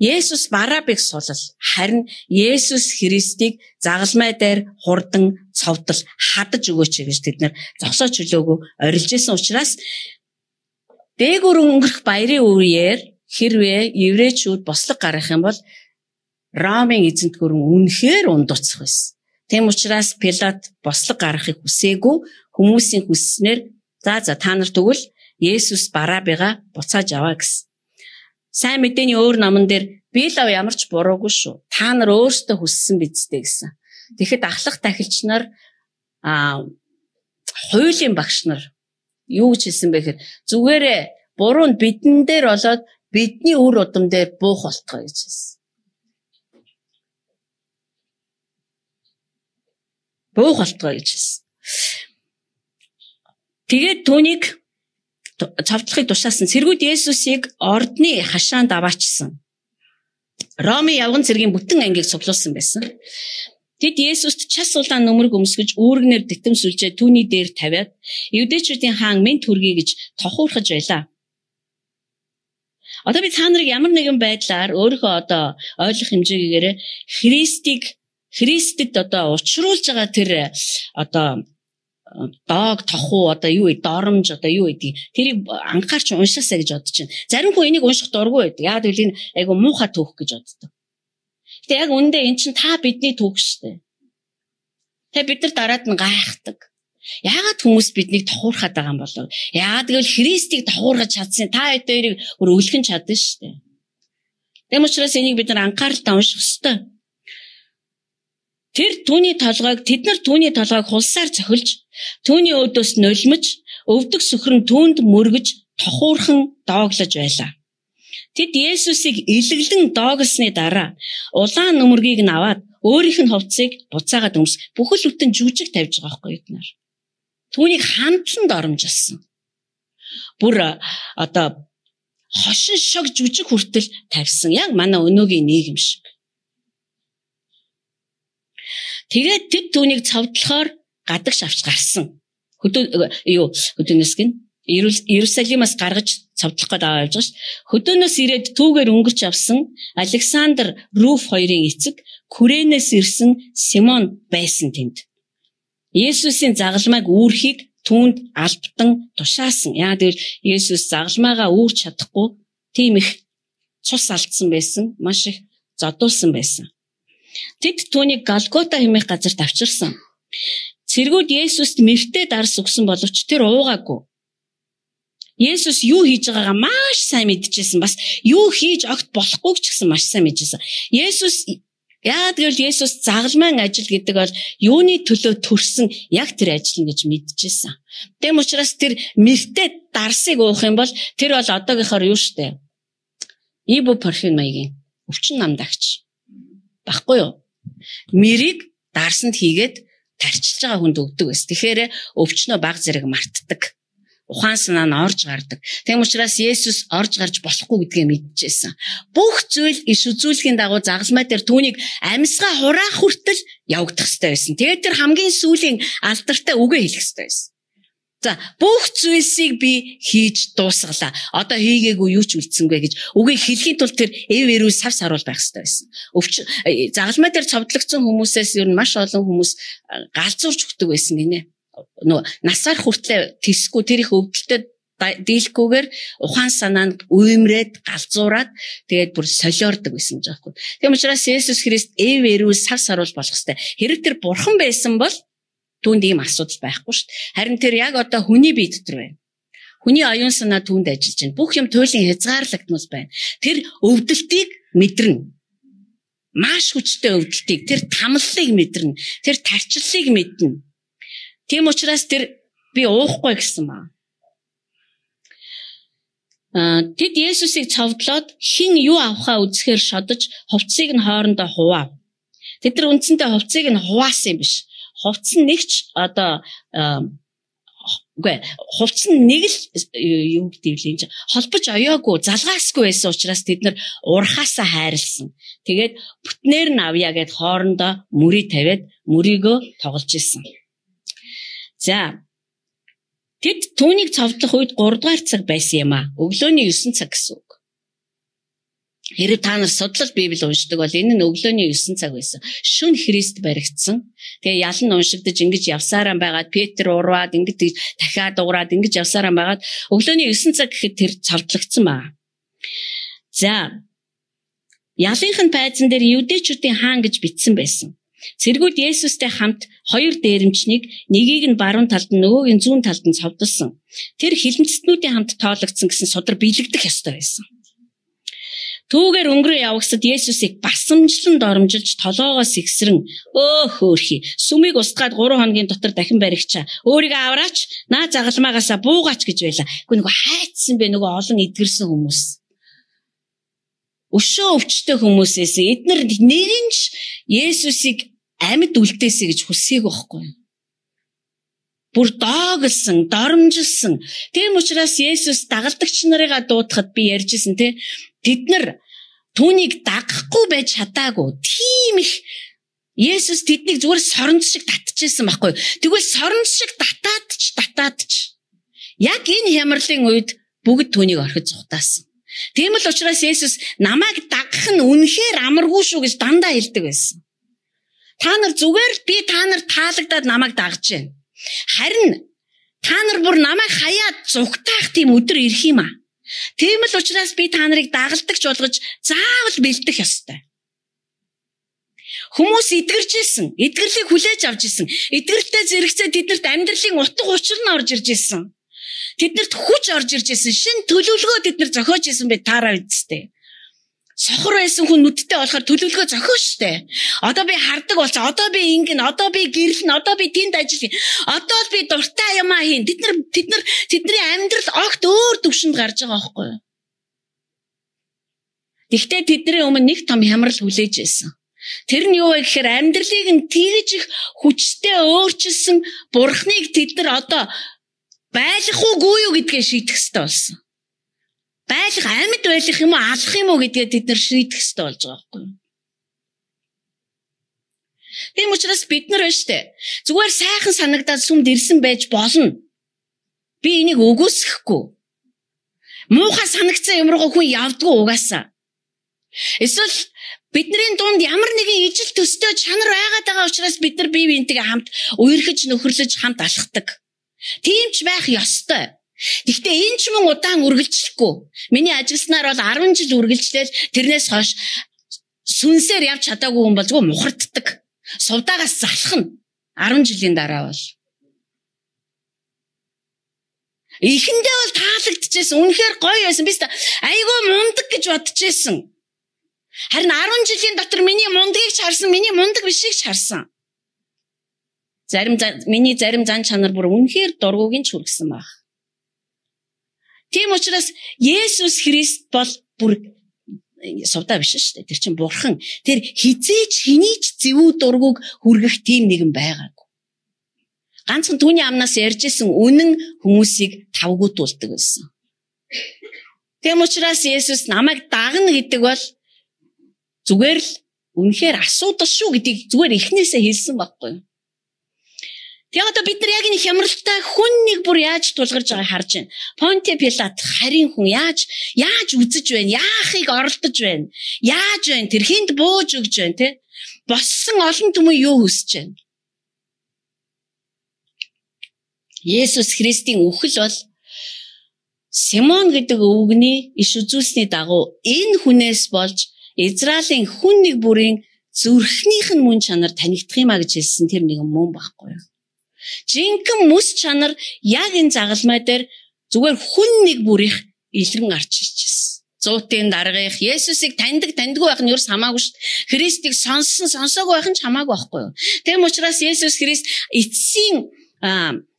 Есүс Барабыг сулал. Харин Есүс Христийг загалмай дээр хурдан цовдол хадаж өгөөч гэж тэд нар зогсоож хөлөөгөө орилж исэн учраас дээгүүр өнгөрөх баярын үеэр хэрвээ еврейчүүд бослог гаргах юм бол Ромын эзэнт гүрэн үнэхээр ундууцах байсан. Тэм учраас Пилат бослог гаргахыг хүсээгүй хүмүүсийн хүсснээр та нар тэгвэл Есүс Барабыгаа буцааж аваа гэсэн. Сайн мэдээний өөр номон дээр Билав ямар ч буруугүй шүү. Та нар өөрсдөө хүссэн бидтэй гэсэн. Тэгэхэд ахлах дахилч нар хуулийн багш нар юу гэж хэлсэн бэ гэхээр зүгээрээ буруу нь бидэн дээр болоод бидний үр удам дээр буух болтгоо гэж хэлсэн. Буух болтгоо гэж хэлсэн. Тэгээд түүнийг цовдлохыг тушаасан. Цэргүүд Есүсийг ордны хашаанд аваачсан. Ромын явган цэргийн бүтэн ангийг цуглуулсан байсан. Тэд Есүст час улаан нүмерг өмсгөж үүргнээр дитэмсүүлжээ түүний дээр тавиад Евдээчүүдийн хаан мэд хүргэе гэж тохуурхаж байлаа. Одоо би та нарыг ямар нэгэн байдлаар өөрийнхөө одоо ойлгох хэмжээгээр Христэд одоо учруулж байгаа тэр одоо дог тохуу одоо юу вэ доромж одоо юу гэдэг тэрийг анхаарч уншаасаа гэж бодож байна. Зарим хүн энийг унших дургүй байдаг. Яг л энэ айгу муухай түүх гэж боддог. Гэтэ яг үндэ эн чинь та бидний түүх шүү дээ. Тэгээ бид нар дараад нь гайхдаг. Яагаад хүмүүс биднийг тохуурхаад байгаа юм болов? Яагаад гэвэл Христийг тохуургаж чадсан та хоёрыг өөр өлгөн чадсан шүү дээ. Тэм учраас энийг бид нар анхааралтай унших ёстой. Тэд нар түүний толгойг хулсаар цохилж, түүний өөдөөс нулимж, өвдөг сүхрэн түүнд мөргөж, тохуурхан дооглож байлаа. Тэд Есүсийг илэглэн дооглосны дараа улаан нүмергийг нь аваад өөрийнх нь хувцсыг буцаагаад бүхэл бүтэн жүжиг тавьж байгаа байхгүй юу нар. Түүнийг хамтлан доромжилсан. Бүр одоо хошин шог жүжиг хүртэл тавьсан. Яг манай өнөөгийн нийгэм шиг. Тэгээд тэд түүнийг цовдлохоор гадагш авч гарсан. Хөдөөнөөс гин Иерусалимаас гаргаж цовдлох гээд аваа явж байгаа ш. Хөдөөнөөс ирээд түүгээр өнгөрч авсан Александр Руф хоёрын эцэг Күрэнээс ирсэн Симон байсан тэнд. Есүсийн загалмайг үүрхийг түүнд албатан тушаасан. Яагаад гэвэл Есүс загалмайгаа үүрч чадахгүй тийм их цус алдсан байсан, маш их зодуулсан байсан. Тэд түүнийг Голгота хэмээх газарт авчирсан. Цэргүүд Есүст мэртээ дарс өгсөн боловч тэр уугаагүй. Есүс юу хийж байгаагаа маш сайн мэдчихсэн. Бас юу хийж огт болохгүй ч гэсэн маш сайн мэдчихсэн. Яагаад гэвэл Есүс загалмайн ажил гэдэг бол юуны төлөө төрсөн яг тэр ажил гэж мэдчихсэн. Тэм учраас тэр мэртээ дарсыг уух юм бол тэр бол одоогийнхоор юу штэ. Ибупрофен маягийн өвчин намдагч. Баггүй юу? Мэрийг дарсанд хийгээд тарчилж байгаа хүнд өгдөг байсан. Тэгэхээр өвчнөө баг зэрэг мартдаг. Ухаан санаа нь орж гардаг. Тэм учраас Есүс орж гарч болохгүй гэдгээ мэдчихсэн. Бүх зүйл иш үзүүлэхийн дагуу загалмай дээр түүнийг амьсгаа хураах хүртэл явагдах ёстой байсан. Тэгээд тэр хамгийн сүүлийн алдартай үгээ хэлэх ёстой байсан. За бүх зүйлсийг би хийж дуусгалаа. Одоо хийгээгүй юу ч үлдсэнгүй гэж үгийг хэлхийн тулд тэр эвэрүү сав саруул байх хэрэгтэй байсан. Загалмай дээр цовдлогдсон хүмүүсээс ер нь маш олон хүмүүс галзуурч өгдөг байсан гинэ. Нөгөө насаар хүртлээр тисгүй тэр их өвдөлтөд дийлхгүйгээр ухаан санаанд уймрээд галзуураад тэгээд бүр солиордог байсан жаахгүй. Тийм учраас Есүс Христ эвэрүү сав саруул болох хэрэгтэй. Хэрэг тэр бурхан байсан бол түүнд ийм асуудал байхгүй шүү дээ. Харин тэр яг одоо хүний бие дотор байна. Хүний оюун санаа түүнд ажиллаж байна. Бүх юм туйлын хязгаарлагдмал байна. Тэр өвдөлтийг мэдэрнэ. Маш хүчтэй өвдөлтийг, тэр тамлалыг мэдэрнэ. Тэр тарчлалыг мэднэ. Тийм учраас тэр би уухгүй гэсэн маа. Тэд Есүсийг цовдлоод хин юу авахаа үзэхээр шодож хувцсыг нь хоорондоо хуваав. Тэд нар үндсэндээ хувцсыг нь хуваасан юм биш. Хувцс нь нэгч одоо хувцс нь нэг л юу гэдэг вэ энэ холбож оёогүй залгаасгүй байсан учраас тэд нар урхаасаа хайрлсан. Тэгээд бүтнээр нь авъя гэд хоорондоо мөрий тавиад мөрийгөө тоглож исэн. За тэд түүнийг цовдлох үед 3 дугаар цаг байсан юм а. Өглөөний 9 цаг гэсэн үг. Хэрэг та нар судлал Библи уншдаг бол энэ нь өглөөний 9 цаг байсан. Шөнө Христ баригдсан. Тэгээ ялан уншигдаж ингэж явсараа байгаад Петр ураад ингэж дахиад уураад ингэж явсараа байгаад өглөөний 9 цаг гэхэд тэр цовдлогдсон баа. За ялынхын пайзан дээр Юдэчүүдийн хаан гэж бичсэн байсан. Цэргүүд Есүстэй хамт 2 дээрэмчнийг нэгийг нь баруун талд нь нөгөөг нь зүүн талд нь цовдлсон. Тэр хилэнцэтнүүдийн хамт тоологдсон гэсэн судар биелэгдэх ёстой байсан. Түүгээр өнгөрөө явагсад Есүсийг басамжлан доромжилж толоогоос ихсрэн хөөхий сүмийг устгаад 3 хоногийн дотор дахин баригчаа өөрийгөө авраач наа загалмаагаасаа буугаач гэж байла. Гэхдээ нөгөө хайцсан бэ нөгөө олон эдгэрсэн хүмүүс. Өшөө өвчтэй хүмүүсээс эднэр нэгэнч Есүсийг амьд үлдээсэй гэж хүсээг байхгүй. Бүр дооглсон, доромжилсан. Тийм учраас Есүс дагалдагч нарыгаа дуудахад би ярьжсэн те. Тэд нар түүнийг дагахгүй байж чадаагүй. Тийм их Есүс тэднийг зүгээр соронц шиг татчихсан байхгүй. Тэгвэл соронц шиг татаадч. Яг энэ хямралын үед бүгд түүнийг орхиж зугатаасан. Тийм л учраас Есүс намайг дагах нь үнэхээр амаргүй шүү гэж дандаа хэлдэг байсан. Та нар зүгээр би та нар таалагдаад намайг дагж байна. Харин та нар бүр намайг хаяад зугтаах тийм өдөр ирэх юм аа. Тийм л учраас би та нарыг дагалдагч болгож заавал бэлдэх ёстой. Хүмүүс эдгэрж исэн, эдгэрлийг хүлээж авч исэн. Эдгэртэй зэрэгцээ тэднэрт амьдралын утга учир нь орж ирж исэн. Тэднэрт хүч орж ирж исэн. Шин төлөвлөгөө тэднэр зохиож исэн бай таараа үсттэй. Сохор байсан хүн нүдтэй болохоор төлөвлөгөө зохио штэ. Одоо би хардаг болцоо. Одоо би ингэн, одоо би гэрлэн, одоо би тэнд ажиллая. Одоо л би дуртай юмаа хийн. Тэдний амьдрал огт өөр төвшөнд гарч байгаа байхгүй юу? Гэхдээ тэдний өмнө нэг том хямрал хүлээж байсан. Тэр нь юу вэ гэхээр амьдралыг нь тэгж их хүчтэй өөрчилсөн бурхныг тэд нар одоо байлах уугүй юу гэдгээ шийдэх ёстой болсон. Байлах амьд байх юм уу алах юм уу гэдгээ тэд нар шийдэх ёстой болж байгаа байхгүй юу? Тийм учраас бид нар штэ зүгээр сайхан санагдаад сүмд ирсэн байж болно. Би энийг үгүйсэхгүй. Муухай санагцсан юмруу хүн явдгүй угаасаа. Эсвэл бидний дунд ямар нэгэн ижил төстэй чанар байгаад байгаа учраас бид нар бие биентэйгээ хамт үерхэж нөхөрлөж хамт алхдаг. Тийм ч байх ёстой. Гэхдээ энэ ч мөн удаан үргэлжлэхгүй. Миний ажилласнаар бол 10 жил үргэлжлээл тэрнээс хойш сүнсээр явж чадаагүй хүн бол зүгээр мухарддаг. Сувдаагаас залхна. 10 жилийн дараа бол. Эхэндээ бол таалагдчихсэн. Үнэхээр гоё байсан. Би айгүй мундаг гэж бодчихсэн. Харин 10 жилийн дотор миний мундгийг ч харсан, миний мундаг бишийг ч харсан. Миний зарим зан чанар бүр үнэхээр дургугийн ч хүргэсэн баг. Тийм учраас Есүс Христ бол бүр сувдаа биш шүү дээ. Тэр чинь бурхан. Тэр хизээч хинийч зэвүү дургуг хүргэх тийм нэгэн байгаагүй. Ганцхан түүний амнаас ярьжсэн үнэн хүмүүсийг тавгуутуулдаг байсан. Тийм учраас Есүс намайг дагна гэдэг бол зүгээр л үнэхээр асуудал шүү гэдгийг зүгээр эхнээсээ хэлсэн байхгүй юу? Тэгээ одоо бид нар яг энэ хямралтай хүн нэг бүр яаж тулгарч байгааг харж байна. Понти Пилат харин хүн яаж үзэж байна? Яахыг оролдож байна? Яаж байна? Тэр хинд бууж өгж байна те? Боссон олон түмэн юу хүсэж байна? Есүс Христийн үхэл бол Симон гэдэг өвгний иш үзүүлсний дагуу энэ хүнээс болж Израилийн хүн нэг бүрийн зүрхнийх нь мөн чанар танигдах юм а гэж хэлсэн тэр нэгэн мөн байхгүй юу? Жинхэнэ мэс чанар яг энэ загалмай дээр зүгээр хүн нэг бүрийнх илрэн гарч ирчихсэн. Зуутын даргаих Есүсийг таньдаггүй байх нь юу ч хамаагүй шүү дээ. Христийг сонсоогүй байх нь ч хамаагүй байхгүй юу? Тэгм учраас Есүс Христ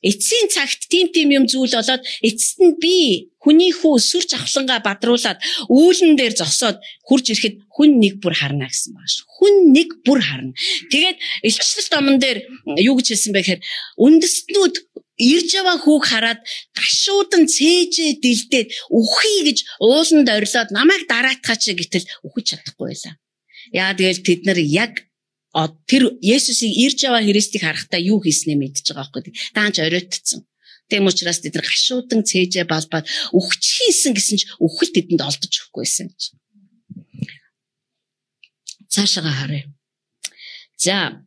эцсийн цагт тийм юм зүйл болоод эцэст нь би хүний хүү сүр жавхлангаа бадруулаад үүлэн дээр зогсоод хурж ирэхэд хүн нэг бүр харна гэсэн байна шүү. Хүн нэг бүр харна. Тэгээд Илчилт номон дээр юу гэж хэлсэн бэ гэхээр үндэстнүүд ирж яваа хүүг хараад гашуудан цээжээ дэлдээд үхий гэж ууланд орилоод намайг дараатгаач гэтэл үхэж чадахгүй байлаа. Яа тэгэл тэд нар яг тэр Есүсийг ирж яваа Христийг харахтаа юу хийснээ мэдчихэж байгаа байхгүй. Даанч оройтцсан. Тэм учраас тэд нар гашуудан цээжээ балбаад үхчихсэн гэсэн ч үхэл тэдэнд олдож өгөхгүйсэн гэж. Цаашаа харъя. За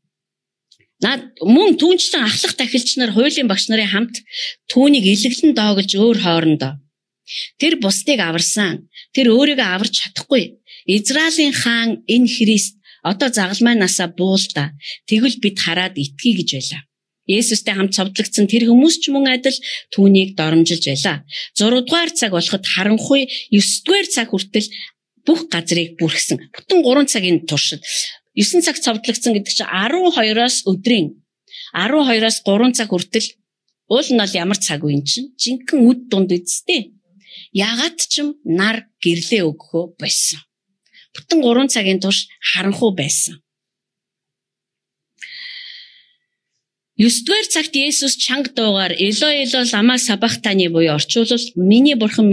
мөн түүнчлэн ахлах тахилч нар хуулийн багш нарын хамт түүнийг илэглэн доогож өөр хоорондоо тэр бусдыг аварсан. Тэр өөрийгөө аварч чадахгүй. Израилийн хаан энэ Христ одоо загалмайнасаа буулда. Тэгвэл бид хараад итгэе гэж байлаа. Есүстэй хамт цовдлогдсон тэр хүмүүс ч мөн адил түүнийг доромжилж байлаа. 6 дугаар цаг болоход харанхуй 9 дугаар цаг хүртэл бүх газрыг бүрхсэн. Бүтэн 3 цагийн туршид 9 цаг цовдлогдсон гэдэг чинь 12-оос өдрийн 12-оос 3 цаг хүртэл уул нь бол ямар цаг вэ чинь? Жинхэнэ үд дунд үсттэй. Ягаад ч юм нар гэрлээ өгөхөө байсан. Бүтэн 3 цагийн турш харанхуй байсан. 9-р цагт Есүс чанга дуугаар Элой Элой лама сабахтаны буюу орчуулбал миний бурхан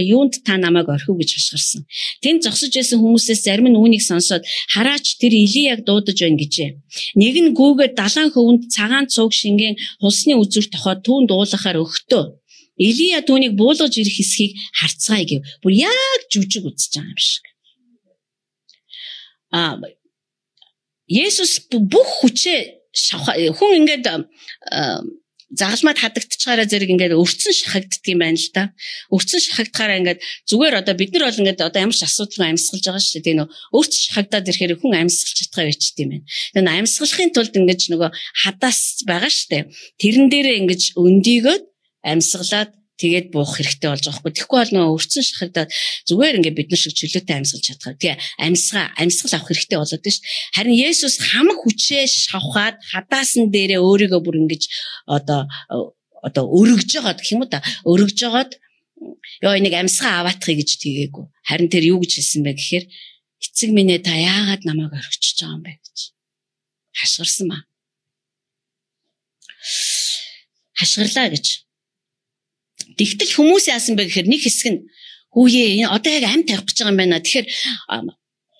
юунд та намайг орхив гэж хашгирсан. Тэнд зогсож байсан хүмүүсээс зарим нь үүнийг сонсоод хараач тэр Илияг дуудаж байна гэжээ. Нэг нь гүүгээд далайн хөвөнд цагаан цуг шингэн хулсны үзүр тохоод түүнд уулахаар өгтөө. Илия түүнийг буулгаж ирэх хэсгийг харцгаая гэв. Бүр яг жүжиг үзэж байгаа юм шиг. Есүс бүх хүчээ хүн ингээд загалмайд хадагдчихаараа зэрэг ингээд өрцөн шахагддаг юм байна л да. Өрцөн шахагдахаараа ингээд зүгээр одоо бид нар бол ингээд одоо ямар ч асуудалгүй амьсгалж байгаа шүү дээ. Нөгөө өрцөн шахагдаад ирэхээр хүн амьсгалж чадхаа байчт юм байна. Тэгээ амьсгалахын тулд ингээд нөгөө хадаас байгаа шүү дээ. Тэрэн дээрээ ингээд өндийгөөд амьсгалаад тэгээд буух хэрэгтэй болж байгаа хгүй. Тэгэхгүй бол нөгөө өрцөн шахагдаад зүгээр ингээд бид нар шиг чөлөөтэй амьсгалж чадхаа. Тэгээ амьсгал авах хэрэгтэй болоод тийм ш. Харин Есүс хамаг хүчээ шавхаад хадаасан дээрээ өөрийгөө бүр ингэж одоо өргөж байгаа гэх юм уу та. Өргөж жагаад ёо энийг амьсгаа аваатахыг гэж тгээгүй. Харин тэр юу гэж хэлсэн бэ гэхээр эцэг минь та яагаад намайг орхиж байгаа юм бэ гэж хашгирсан ба. Хашгирлаа гэж. Тэгтэл хүмүүс яасан бэ гэхээр нэг хэсэг нь хүүе одоо яг амь тавих гэж байгаа юм байна. Тэгэхээр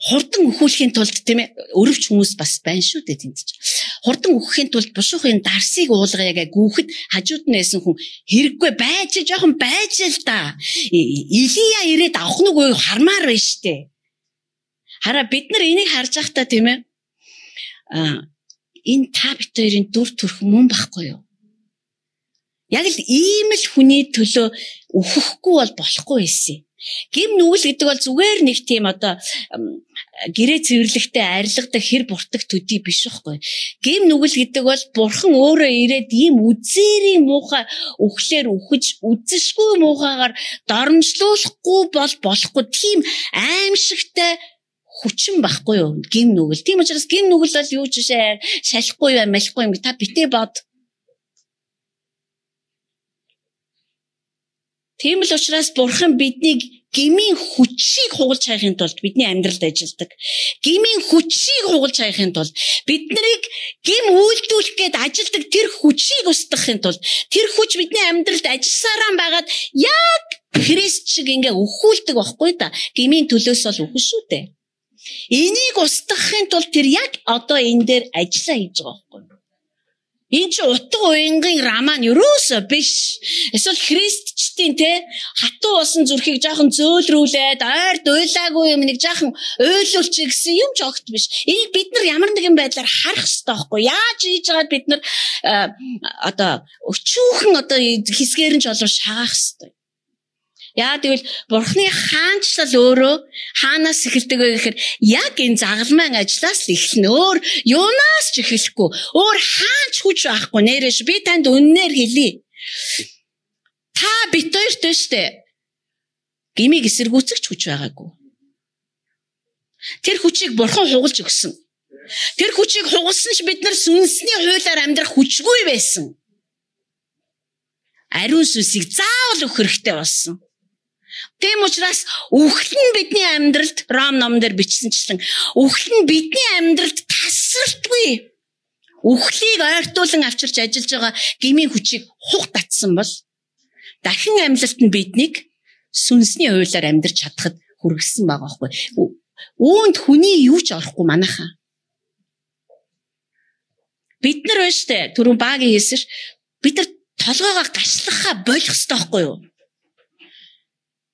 хурдан өхүүлэхийн тулд тийм ээ өрөвч хүмүүс бас байна шүү дээ тэнд чинь. Хурдан өхөхийн тулд бушуухын дарсыг уулгаа яг гүөхд хажууд нь нэсэн хүн хэрэггүй байж жоохон байж л да. Илия ирээд авах нь үгүй хармаар байна штэ. Хараа бид нар энийг харж байхдаа тийм ээ энэ та бид хоёрын дүр төрх мөн байхгүй юу? Яг л ийм л хүний төлөө өөхөхгүй бол болохгүй байсан. Гим нүгэл гэдэг бол зүгээр нэг тийм одоо гэрээ цэвэрлэгтэй арилгадаг хэр буртаг төдий биш байхгүй. Гим нүгэл гэдэг бол бурхан өөрөө ирээд ийм үзээрийн муухай өөхлөөр үхэж үзэшгүй муухайгаар доромжлуулахгүй бол болохгүй. Тийм аимшигтай хүчин байхгүй юу? Гим нүгэл. Тийм учраас гим нүгэл бол юу ч шалахгүй юм, малахгүй юм. Та битээ бод. Тийм л учраас бурхан биднийг гмийн хүчийг хугалж хайхын тулд бидний амьдралд ажилладаг. Гмийн хүчийг хугалж хайхын тулд бид нарыг гм үйлдүүлэх гээд ажилладаг тэр хүчийг устгахын тулд тэр хүч бидний амьдралд ажилласараа байгаад яг Христ шиг ингээ өхүүлдэг байхгүй да. Гмийн төлөөс бол үхэн шүү дээ. Энийг устгахын тулд тэр яг одоо энэ дээр ажиллаа хийж байгаа байхгүй. Энэ ч утга уянгийн раман юусоо биш. Эсвэл христчдийн те хатуу болсон зүрхийг жоохон зөөлрүүлээд ойрд уйлаагүй юм нэг жоохон уйлуулчих гэсэн юм ч огт биш. Энийг бид нар ямар нэгэн байдлаар харах хэрэгтэй байхгүй. Яаж хийж байгаад бид нар өчүүхэн хэсгээр нь ч болов шагаах хэрэгтэй. Яа тэгвэл Бурхны хаанчлал өөрөө хаанаас эхэлдэг вэ гэхээр яг энэ загалмайн ажлаас эхэлнэ. Өөр юунаас ч эхлэхгүй. Өөр хаанч хүч байхгүй нэрэж би танд үннээр хэлье. Та бит хоёртой штэ. Гимиг эсэргүүцэх хүч байгаагүй. Тэр хүчийг Бурхан хугалж өгсөн. Тэр хүчийг хугалсан ч бид нар сүнсний хуулиар амьдрах хүчгүй байсан. Ариун сүнсийг заавал өгөх хэрэгтэй болсон. Тийм учраас үхэл нь бидний амьдралд Ром номон дээр бичсэнчлэн үхэл нь бидний амьдралд тасралтгүй. Үхлийг ойртуулан авчирч ажиллаж байгаа гмийн хүчийг хух татсан бол дахин амьлалт нь биднийг сүнсний хуулиар амьдарч чадахад хүргэсэн байгаа байхгүй. Үүнд хүний юу ч орохгүй манайхаа. Бид нар байна штэ түрүүн багийн хэлсэж бид нар толгоогоо гашлахаа болох хэрэгтэй байхгүй юу?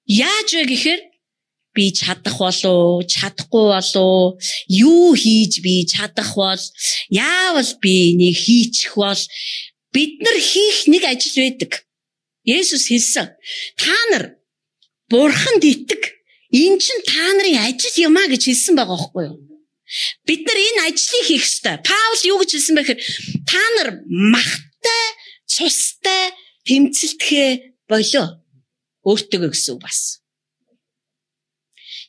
Яаж вэ гэхээр би чадах болов, чадахгүй болов, юу хийж би чадах бол, яавал би нэг хийчих бол бид нар хийх нэг ажил байдаг. Есүс хэлсэн. Та нар Бурханд итэг. Энэ чинь та нарын ажил юм а гэж хэлсэн байгаа байхгүй юу? Бид нар энэ ажлыг хийх ёстой. Паул юу гэж хэлсэн бэ гэхээр та нар махтай, цустай тэмцэлтгэ болоо. Өөртөө гэсэн бас.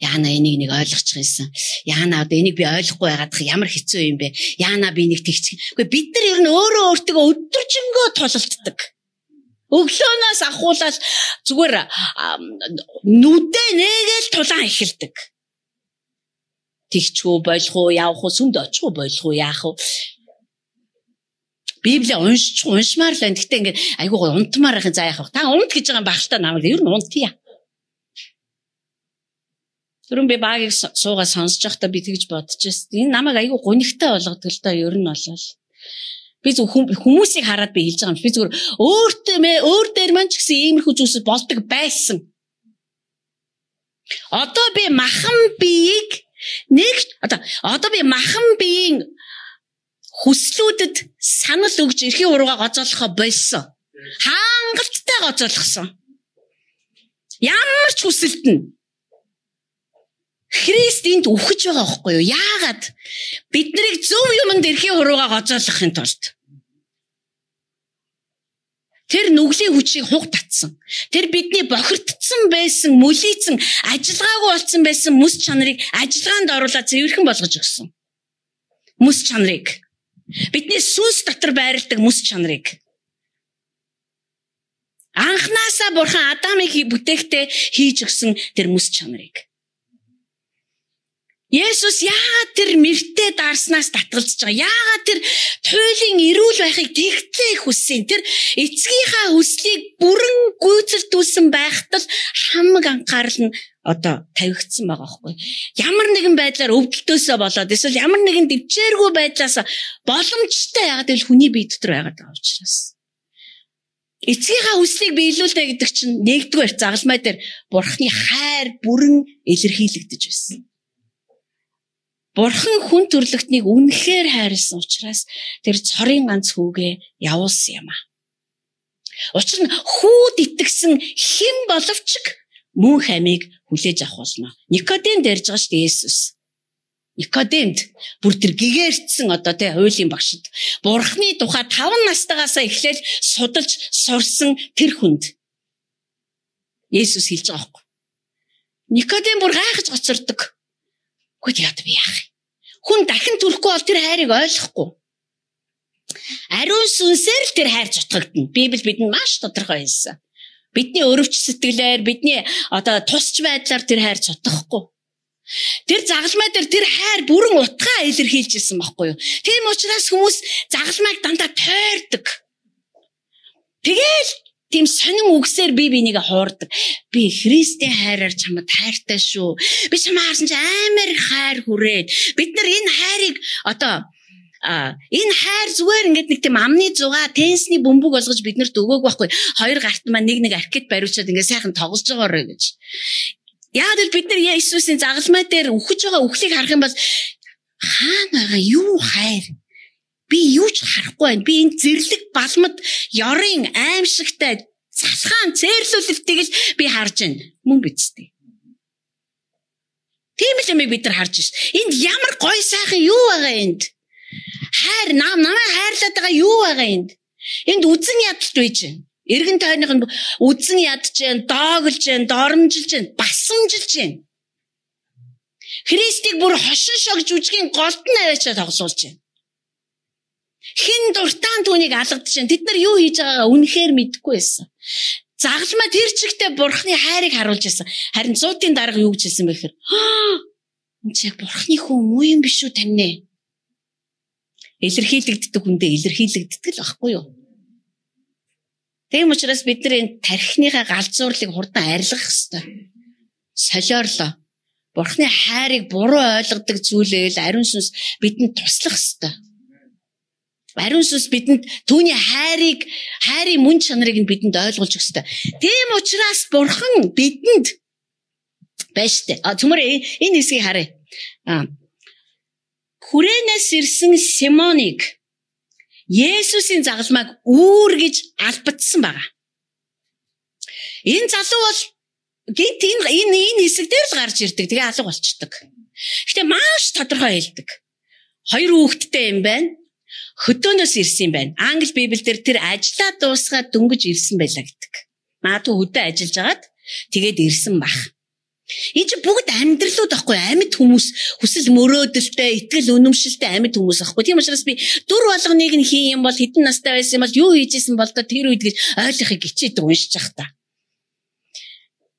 Яана энийг нэг ойлгочих юмсан. Яана одоо энийг би ойлгохгүй байгаад ямар хэцүү юм бэ? Яана би нэг тэгчих. Гэхдээ бид нар ер нь өөрөө өөртөө өдөржингөө тулалддаг. Өглөөнөөс ахуулаад зүгээр нүдээ нээгээл тулаан эхэлдэг. Тэгчүү болох уу, явах уу, сүмд очих уу, болох уу, яах уу? Библийг уншмаар л байна. Гэхдээ ингээд айгүй унтмаар байхын заа яах вэ? Та унт гэж байгаа юм багтаа намайг ер нь унтъя. Түрүүн би багийг суугаа сонсож байхдаа би тэгж бодож байсан. Энэ намайг айгүй гунигтай болгодог л доо ер нь болол. Би зөв хүмүүсийг хараад би хэлж байгаа юм. Би зүгээр өөр дээр маань ч гэсэн иймэрхүү зүйлс болдог байсан. Одоо би махан биеийг одоо би махан биеийн хүслүүдэд санал өгж эрхийн уруугаа гоцоолохоо болсон. Хангалттай гоцоолгосон. Ямар ч хүсэлт нь Христ энд үхэж байгаа байхгүй юу? Яагаад? Биднийг зөв юмд эрхийн уруугаа гоцоолгохын тулд. Тэр нүглийн хүчийг хуг татсан. Тэр бидний бохирдсан байсан, мүлийцэн, ажиллагаагүй болсон байсан мэс чанарыг ажиллагаанд оруулаад цэвэрхэн болгож өгсөн. Мэс чанарыг. Бидний сүнс дотор байрладаг мэс чанарыг. Анхнаасаа Бурхан Адамыг бүтээхдээ хийж өгсөн тэр мэс чанарыг. Есүс яагаад тэр мэртээ даарснаас татгалзаж байгаа? Яагаад тэр туйлын эрүүл байхыг тэгтлээ их хүссэн? Тэр эцгийнхаа хүслийг бүрэн гүйцэлдүүлсэн байхад л хамаг анхаарал нь тавигдсан байгаа байхгүй. Ямар нэгэн байдлаар өвдөлтөөсөө болоод эсвэл ямар нэгэн дэвчээргүй байдлаас боломжтой яагаад гэвэл хүний бие дотор байгаад байгаа учраас. Эцгийнхаа хүслийг биелүүлнэ гэдэг чинь нэгдүгээр загалмай дээр Бурхны хайр бүрэн илэрхийлэгдэж байсан. Бурхан хүн төрлөختнийг үнэхээр хайрлсан учраас тэр цорын ганц хүүгээ явуулсан юм а. Учир нь хүүд итгэсэн хэн боловч мөн хамиг хүлээж авах болно. Никодем дэрж байгаа шүү дээ Есүс. Никодемд бүр тэр гэгээрцсэн хуулийн багшид Бурхны тухай 5 настайгаасаа эхлээл судалж сурсан тэр хүнд Есүс хэлж байгаа байхгүй. Никодем бүр гайхаж гоцордог. Гэхдээ яа би яах? Хүн дахин төрөхгүй бол тэр хайрыг ойлгохгүй. Ариун сүнсээр л тэр хайр зутгагдана. Библи бидэнд маш тодорхой хэлсэн. Бидний өрөвч сэтгэлээр, бидний тусч байдлаар тэр хайр зутгахгүй. Тэр загалмай дээр тэр хайр бүрэн утгаа илэрхийлжсэн байхгүй юу? Тийм учраас хүмүүс загалмайг дандаа тойрдог. Тэгэл тийм сонин үгсээр бинийг хуурдаг. Би Христийн хайраар чамд хайртай шүү. Би чамаа харсан чи амар хайр хүрээд бид нар энэ хайрыг Энэ хайр зүгээр ингээд нэг тийм амны зугаа тенсний бөмбөг болгож биднэрт өгөөг байхгүй. Хоёр гарт маань нэг аркет бариулчаад ингээд сайхан тоглож байгаарэ гэж. Яг л бид нар Иесусийн загалмай дээр үхэж байгаа үхлийг харах юм бол хаана байгаа юу хайр? Би юу ч харахгүй байна. Би энэ зэрлэг балмад ёрын аимшигтай цасгаан цээрлүүлэлтийг л би харж байна. Мөн биз дээ. Тийм л юм бид нар харж байна. Энд ямар гоё сайхан юу байгаа энд? Хайр намайг хайрлаад байгаа юу байгаа энд? Энд үзэн ядалт байж байна. Эргэн тойрных нь үзэн ядж байна, доогөлж байна, доромжилж байна, басамжилж байна. Христийг бүр хошин шогж үжгийн голд нь аваачаа тоглуулж байна. Хин дуртаан түүнийг алгадж байна. Тэд нар юу хийж байгаагаа үнэхээр мэдэхгүй байсан. Загалмай тэр чигтээ бурхны хайрыг харуулж байсан. Харин 100-ийн дарга юу гэж хэлсэн бэ гэхээр энэ ч яг бурхны хүн муу юм биш үү таньнэ? Илэрхийлэгддэг хүндээ илэрхийлэгддэг л байхгүй юу? Тийм учраас бид нар энэ тархиныхаа галзуурлыг хурдан арилгах ёстой. Солиорлоо. Бурхны хайрыг буруу ойлгодог зүйлээл ариун сүнс бидэнд туслах ёстой. Ариун сүнс бидэнд түүний хайрын мөн чанарыг нь бидэнд ойлгуулж өгөх ёстой. Тийм учраас бурхан бидэнд байж тээ. Түмэр энэ хэсгийг харъя. Хүрээнээс ирсэн Симоныг Есүсийн загалмайг үүргэж албадсан байгаа. Энэ залуу бол гинт энэ хэсэг дээр л гарч ирдэг. Тэгээ алга болчдөг. Гэтэ маш тодорхой хэлдэг. 2 хүүхэдтэй юм байна. Хөдөөнөөс ирсэн юм байна. Англи Библиэлд тэр ажиллаа дуусгаад дөнгөж ирсэн байлаа гэдэг. Магадгүй хөдөө ажиллаж агаад тэгээд ирсэн бах. Энэ ч бүгд амьдралууд ахгүй амьд хүмүүс хүсэл мөрөөдөлтэй итгэл үнэмшилтэй амьд хүмүүс ахгүй. Тийм учраас би дүр болгоныг нь хийн юм бол хэдэн настай байсан бол юу хийжсэн бол тэр үед гэж ойлгохыг хичээдэг уншиж явах та.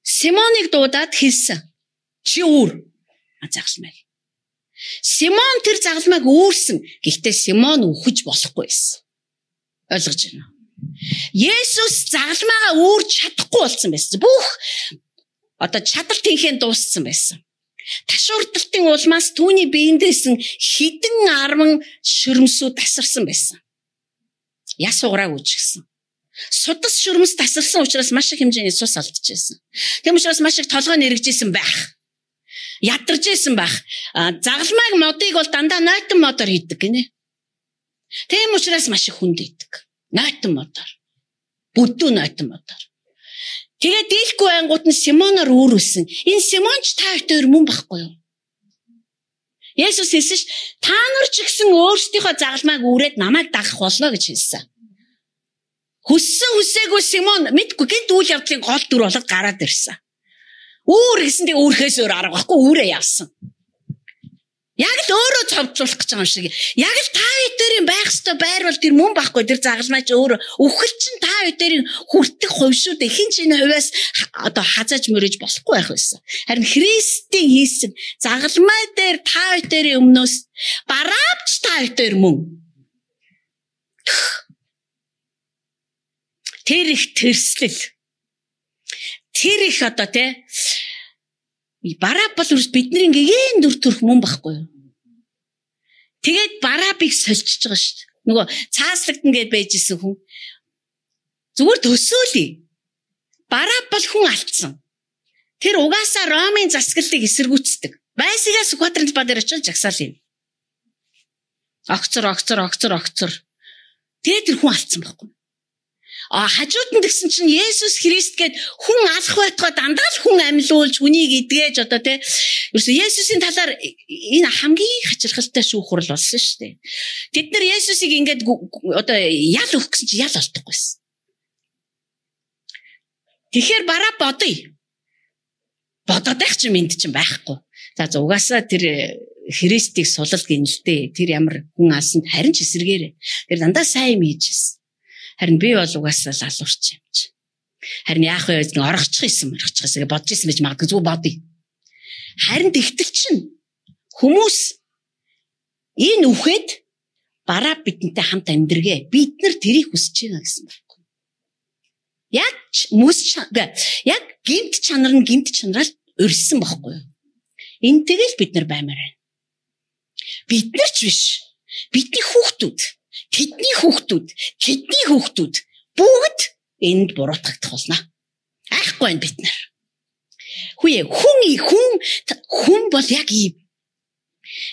Симоныг дуудаад хэлсэн. Чи үүр. Загалмай. Симон тэр загалмайг үүрсэн. Гэхдээ Симон үхэж болохгүй байсан. Ойлгож байна уу? Есүс загалмайгаа үүрч чадахгүй болсон байсан. Бүх чадал тэнхээ дууссан байсан. Ташуурдалтын улмаас түүний биендээсэн хідэн 10 шүрмсүүд тасарсан байсан. Яс уграаг үүсгэсэн. Судас шүрмс тасарсан учраас маш их хэмжээний цус алдчихсан. Тийм учраас маш их толгой нэргэжсэн байх. Ядарчсэн байх. Загалмайг модыг бол дандаа нойтон модоор хийдэг гинэ. Тийм учраас маш их хүнд идэг. Нойтон модоор. Бүдүү нойтон модоор. Тэгээд дийлгүй ангууд нь Симоноор үүрүүлсэн. Энэ Симонч та хоёр мөн байхгүй юу? Есүс хэлсэн ш та нар ч гэсэн өөрсдийнхөө загалмайг үүрээд намайг дагах болно гэж хэлсэн. Хүссэн хүсээгүй Симон мэдгүй гинт үйл явдлын гол дүр болоод гараад ирсэн. Үүр гэсэн тэг үүрхээс өөр арга байхгүй үүрээ явсан. Яг л өөрөө цовдлуулах гэж байгаа юм шиг. Яг л та хоёрын байх ёстой байр бол тэр мөн байхгүй тэр загалмайч өөр үхэл чинь та хоёрын хүртэх хувь шүү дээ. Хин ч энэ хувьас хазааж мөрөж болохгүй байх байсан. Харин Христийн хийсэн загалмай дээр та хоёрын өмнөөс бараавч та хоёр мөн. Тэр их тэрслэл. Тэр их Бараб бол бидний ингээм дүр төрх мөн байхгүй юу? Тэгээд Барабыг сольчиж байгаа шүү дээ. Нөгөө цааслагдана гэд байжсэн хүн. Зүгээр төсөөлье. Бараб бол хүн алдсан. Тэр угаасаа Ромын засаглалыг эсэргүүцдэг. Байсагаас Сүхбаатарын талбай дээр очиж жагсаал юм. Огцор. Тэгээд тэр хүн алдсан байхгүй юу? Хажууд нь тэгсэн чинь Есүс Христ гээд хүн алах байтугай дандаа л хүн амьлуулж хүнийг эдгээж ерөөсө Есүсийн талаар энэ хамгийн хачирхалтай шүүхрэл болсон шүү дээ. Тэд нар Есүсийг ингээд ял өгөх гэсэн чинь ял олдохгүйсэн. Тэгэхээр бараа бодъё. Бодоод байх чинь мэд чинь байхгүй. За угаасаа тэр Христийг сулал гинэлтэй тэр ямар хүн алсанд харин ч эсэргээрээ. Тэр дандаа сайн юм хийжсэн. Харин би бол угаасаа лалуурч юм чи. Харин яах вэ? Оргочих юм гэж бодож ирсэн байж магадгүй зүг бодъё. Харин тэгтэл чинь хүмүүс энэ үхэд бараа бидэнтэй хамт амьдргээ. Бид нар тэрийг хүсэж байна гэсэн байна. Яг гинт чанар нь гинт чанараар өрсөн байхгүй юу? Энтэйг л бид нар баймаар байна. Бид нар ч биш. бидний хүүхдүүд, тэдний хүүхдүүд, тэдний хүүхдүүд бүгд энд буруутгагдах болно. Айхгүй байна бид нар. Хүн бол яг ийм.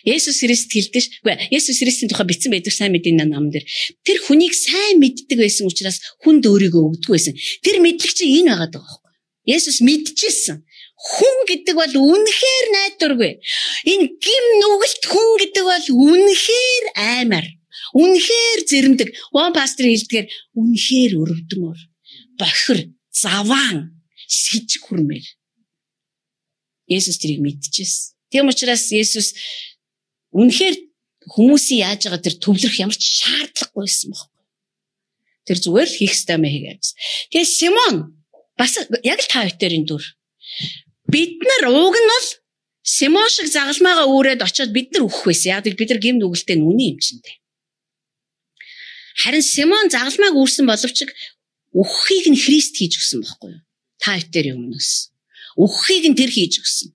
Есүс Христ хэлдэг. Есүс Христийн тухай бичсэн байдаг сайн мэдээний ном дээр. Тэр хүнийг сайн мэддэг байсан учраас хүнд өөрийгөө өгдөг байсан. Тэр мэдлэг чинь энэ байгаа даа. Есүс мэдчихсэн. Хүн гэдэг бол үнэхээр найдваргүй. Энэ гим нүгэлт хүн гэдэг бол үнэхээр аймар. Үнэхээр зэрэмдэг. One pastor хэлдгээр үнэхээр өрөвдмөр. Бохир, заваан, сэжиг хүрмээр. Есүс тэрийг мэдчихсэн. Тийм учраас Есүс үнэхээр хүмүүсийн яаж байгаа тэр төвлөрөх ямар ч шаардлагагүй байсан байхгүй. Тэр зүгээр л хийх ёстой мэй хийгээвс. Тэгээ Симон бас яг л та хоёрын дүр. Бид нар ууг нь бол Симон шиг загалмаагаа үүрээд очиод бид нар өөх байсан. Яг бид нар гим нүгэлтэй нүний эмчэндээ. Харин Симон загалмааг үүрсэн боловч өөхийг нь Христ хийж өгсөн байхгүй юу? Та хоёрын өмнөөс. Өөхийг нь тэр хийж өгсөн.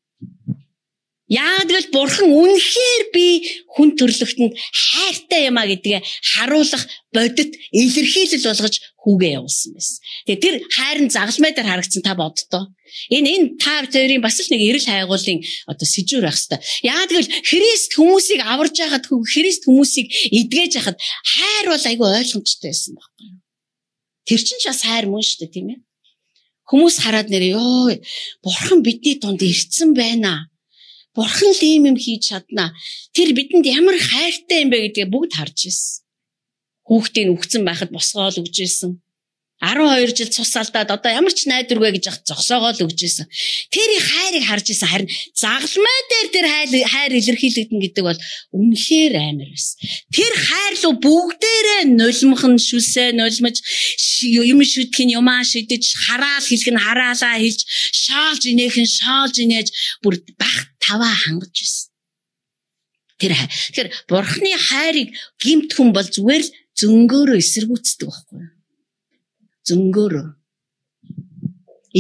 Яг л Бурхан үнэхээр би хүн төрлөختөнд хайртай юм а гэдгээ харуулах бодит илэрхийлэл болгож хүүгээ явуулсан байсан. Тэгээ тэр хайрын загалмай дээр харагдсан та боддоо. Энэ та хоёрын бас л нэг эрэл хайгуулын одоо сэжүүр байх хэвээр. Яг л Христ хүмүүсийг аварж байхад, Христ хүмүүсийг эдгэж байхад хайр бол айгүй ойлгомжтой байсан байхгүй юу? Тэр чинь ч бас хайр мөн шүү дээ, тийм ээ. Хүмүүс хараад нэрээ ёо Бурхан бидний дунд ирсэн байна. Бурхан л ийм юм хийж чадна. Тэр бидэнд ямар хайртай юм бэ гэдгээ бүгд харж ирсэн. Хүүхдийн үхсэн байхад босгоол өгж ирсэн. 12 жил цус алдаад одоо ямар ч найдваргүй гэж яхад зогсоогоол өгж ирсэн. Тэрийн хайрыг харж ирсэн. Харин загалмай дээр тэр хайр илэрхийлэгдэн гэдэг бол үнэхээр амар байсан. Тэр хайр руу бүгдээрээ нулимхан шүлсээ нулимж юм шүтгэн юмаа шидэж хараал хэлэх нь хараалаа хэлж шаалж инээх нь шаалж инээж бүр бах таваа хангаж ирсэн. Тэгэхээр Бурхны хайрыг гимт хүн бол зүгээр л зөнгөөрөө эсэргүүцдэг байхгүй юу? Зөнгөөрөө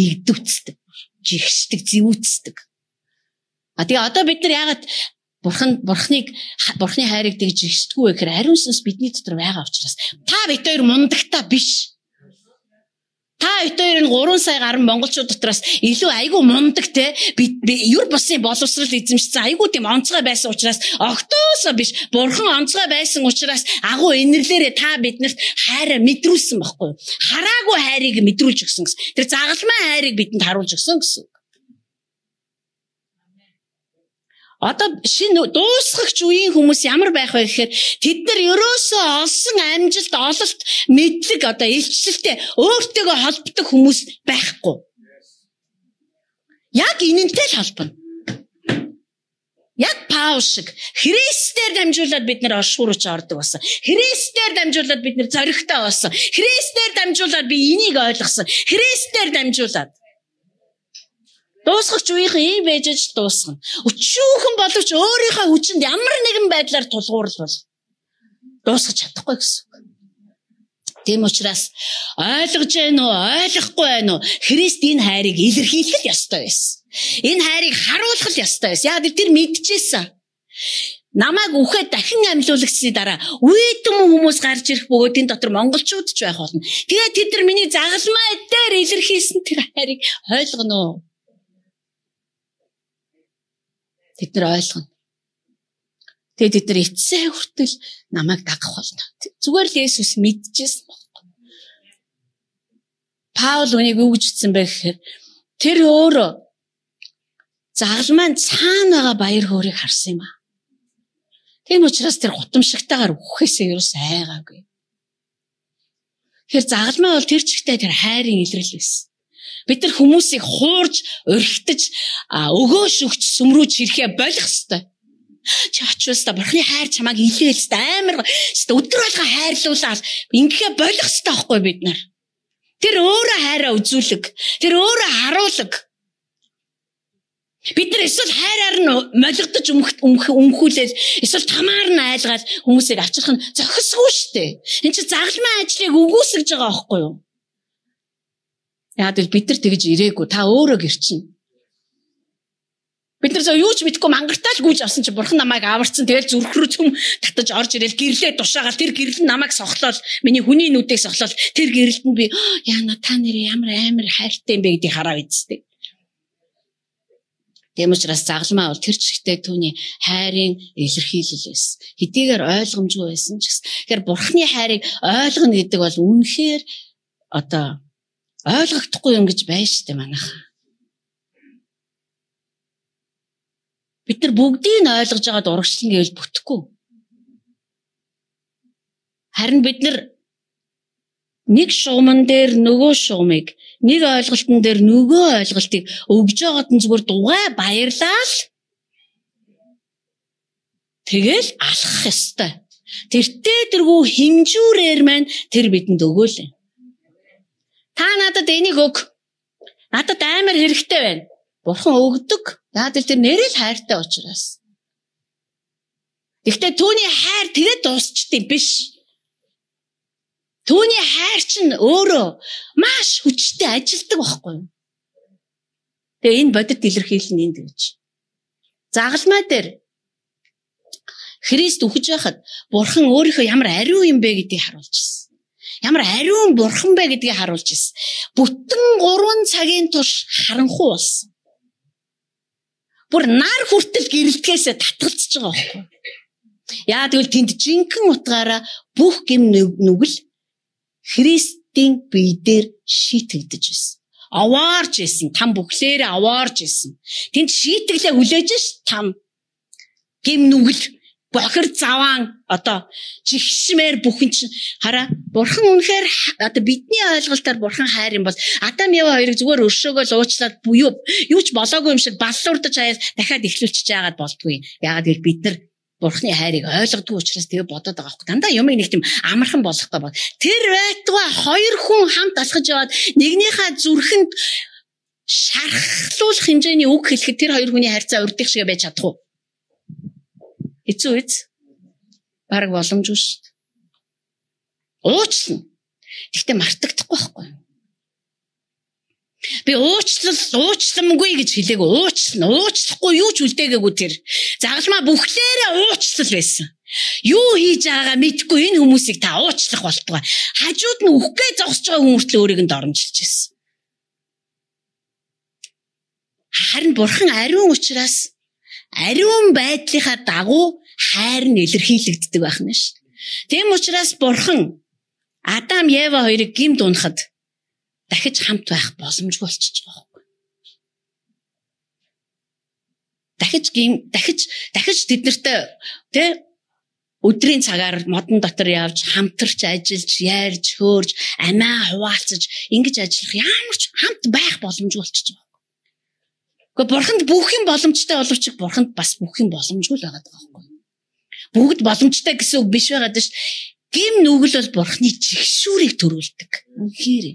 игдүцдэг, жигшдэг, зэвүүцдэг. Тэгээ одоо бид нар яагаад Бурхны хайрыг тэгж жигшдэггүй вэ гэхээр ариун сүнс бидний дотор байгаа учраас. Та бид хоёр мундагтаа биш. Та хоёрын 3 сая гаруй монголчууд дотроос илүү айгүй мундаг те би юр бусын боловсрал эзэмшсэн айгүй тийм онцгой байсан учраас огтоосоо биш Бурхан онцгой байсан учраас агуу инэрлээрээ та биднэрт хайраа мэдрүүлсэн байхгүй юу? Хараагүй хайрыг мэдрүүлж өгсөн гэсэн. Тэр загалмай хайрыг бидэнд харуулж өгсөн гэсэн. Одоо шинэ дуусгагч үеийн хүмүүс ямар байх вэ гэхээр тэд нар ерөөсөө олсон амжилт, ололт, мэдлэг одоо илчлэлтэй өөртөөгөө холбогдох хүмүүс байхгүй. Яг энэнтэй л холбоно. Яг Паул шиг Христээр дамжуулаад бид нар оршуурч ордог болсон. Христээр дамжуулаад бид нар зоригтой болсон. Христээр дамжуулаад би энийг ойлгосон. Христээр дамжуулаад дуусгагч үеийнхэн ийм байжж дуусгана. Өчүүхэн боловч өөрийнхөө хүчинд ямар нэгэн байдлаар тулгуурлал дуусгаж чадахгүй гэсэн. Тийм учраас ойлгож байна уу, ойлгохгүй байна уу? Христ энэ хайрыг илэрхийлэх ёстой байсан. Энэ хайрыг харуулах ёстой байсан. Яг тэр мэдчихсэн. Намайг үхээд дахин амьлуулагдсны дараа үедэм хүмүүс гарч ирэх бөгөөд энэ дотор монголчууд ч байх болно. Тэгээд тэд нар миний загалмай дээр илэрхийлсэн тэр хайрыг ойлгоно уу? Тэд нар ойлгоно. Тэгээд тэд нар эцсээ хүртэл намайг дагах болно. Зүгээр л Есүс мэдчихсэн байхгүй. Паул үнийг юу гэж хэлсэн бэ гэхээр тэр өөрөө загалмайн цаана байгаа баяр хөөргийг харсан юм аа. Тийм учраас тэр гутамшигтайгаар үхэхээсээ ерөөс айгаагүй. Тэр загалмай бол тэр чигтээ тэр хайрын илрэл байсан. Бид нар хүмүүсийг хуурж, өрхтөж, өгөөш өгч сүмрүүж ирэхээ болох ёстой. Чи очвол та Бурхны хайр чамааг илээл амар өдөр болгоо хайрлуулаад ингэхээ болох ёстой байхгүй бид нар. Тэр өөрөө хайраа үзүүлэг. Тэр өөрөө харуулаг. Бид нар эсвэл хайраар нь молигдож өмхүүлээд эсвэл тамаар нь айлгаад хүмүүсийг авчрах нь зохисгүй шүү дээ. Энд чи загалмай ажлыг үгүйсгэж байгаа байхгүй юу? Яг л бид нар тэгж ирээгүй. Та өөрөө гэрчин. Бид нар юу ч мэдэхгүй мангартаа л гүйж авсан чи бурхан намайг аварцсан. Тэгэл зүрх рүү цөм татаж орж ирэл гэрлээ тушаагаал тэр гэрэл нь намайг сохлол. Миний хүний нүдийг сохлол. Тэр гэрэлд нь би яана та нэр ямар амар хайртай юм бэ гэдгийг хараа үзтээ. Тийм учраас загалмаа бол тэр чигтээ түүний хайрын илэрхийлэл байсан. Хэдийгээр ойлгомжгүй байсан ч гэсэн. Тэгэхээр бурханы хайрыг ойлгоно гэдэг бол үнэхээр одоо ойлгохдохгүй юм гэж байна шүү дээ манайхаа. Бид нар бүгдийг нь ойлгож байгаад урагшлан гэвэл бүтэхгүй. Харин бид нар нэг шугамн дээр нөгөө шугамыг, нэг ойлголтын дээр нөгөө ойлголтыг өгж байгаад нь зүгээр дугай баярлал. Тэгэл алхах ёстой. Тэртээ тэргүй хэмжүүрээр маань тэр бидэнд өгөөлэй. Та надад энийг өг. Надад амар хэрэгтэй байна. Бурхан өгдөг. Яагаад гэвэл тэр нэрэл хайртай учраас. Гэхдээ түүний хайр тэгээд дуусчихдээ биш. Түүний хайр чинь өөрөө маш хүчтэй ажилдаг байхгүй юу? Тэгээ энэ бодит илэрхийлэл нь энд гэж. Загалмай дээр Христ үхэж байхад Бурхан өөрийнхөө ямар ариун юм бэ гэдгийг харуулж ирсэн. Ямар ариун Бурхан бэ гэдгийг харуулж ирсэн. Бүтэн 3 цагийн турш харанхуй болсон. Бүр нар хүртэл гэрэлтгээсээ татгалзаж байгаа байхгүй. Яа тэгвэл тэнд жинхэнэ утгаараа бүх гэм нүгэл Христийн бие дээр шийтгдэж байсан. Аваарж байсан. Там бүхлээрээ аваарж байсан. Тэнд шийтгэлээ хүлээж ш там гэм нүгэл бохир заваан одоо жигшмээр бүхэн чинь хараа бурхан үнэхээр одоо бидний ойлголтоор бурхан хайр юм бол Адам Ева хоёрыг зүгээр өршөөгөө л уучлаад юу ч болоогүй юм шиг баллуурдаж хаяад дахиад эхлүүлчихэж яагаад болдгүй. Яагаад гэвэл бид нар бурханы хайрыг ойлгодгүй учраас тэгээ бодоод байгаа байхгүй. Дандаа юмыг нэг тийм амархан болгохгүй бол тэр байтугай хоёр хүн хамт алхаж яваад нэгнийхээ зүрхэнд шархлуулах хэмжээний үг хэлэхэд тэр хоёр хүний харьцаа урдих шиг байж чадах уу? Эцүү эц бараг боломжгүй шүү дээ. Уучлана. Гэхдээ мартагдахгүй байхгүй. Би уучлангүй гэж хэлээгүй. Уучлахгүй юу ч үлдээгээгүй тэр. Загалмаа бүхлээрээ уучлал байсан. Юу хийж байгаагаа мэдгүй энэ хүмүүсийг та уучлах болтугай. Хажууд нь үхгээ зогсож байгаа хүн хүртэл өөрийг нь доромжилж байсан. Харин бурхан ариун учраас ариун байдлынхаа дагуу хайр нь илэрхийлэгддэг байх нь шүү. Тийм учраас бурхан Адам Ева хоёрыг гимд унахад дахиж хамт байх боломжгүй болчихж байгаа байхгүй. Дахиж тэд нартай өдрийн цагаар модон дотор явж хамтарч ажиллаж яарж хөөрж амиа хуваалцаж ингэж ажиллах ямар ч хамт байх боломжгүй болчихж байгаа. Гэхдээ бурханд бүх юм боломжтой боловч бурханд бас бүх юм боломжгүй л байгаа байхгүй. Бүгд боломжтой гэсэн үг биш байгаад ш. Гим нүгэл бол бурханы жигшүүрийг төрүүлдэг. Үнэхээр.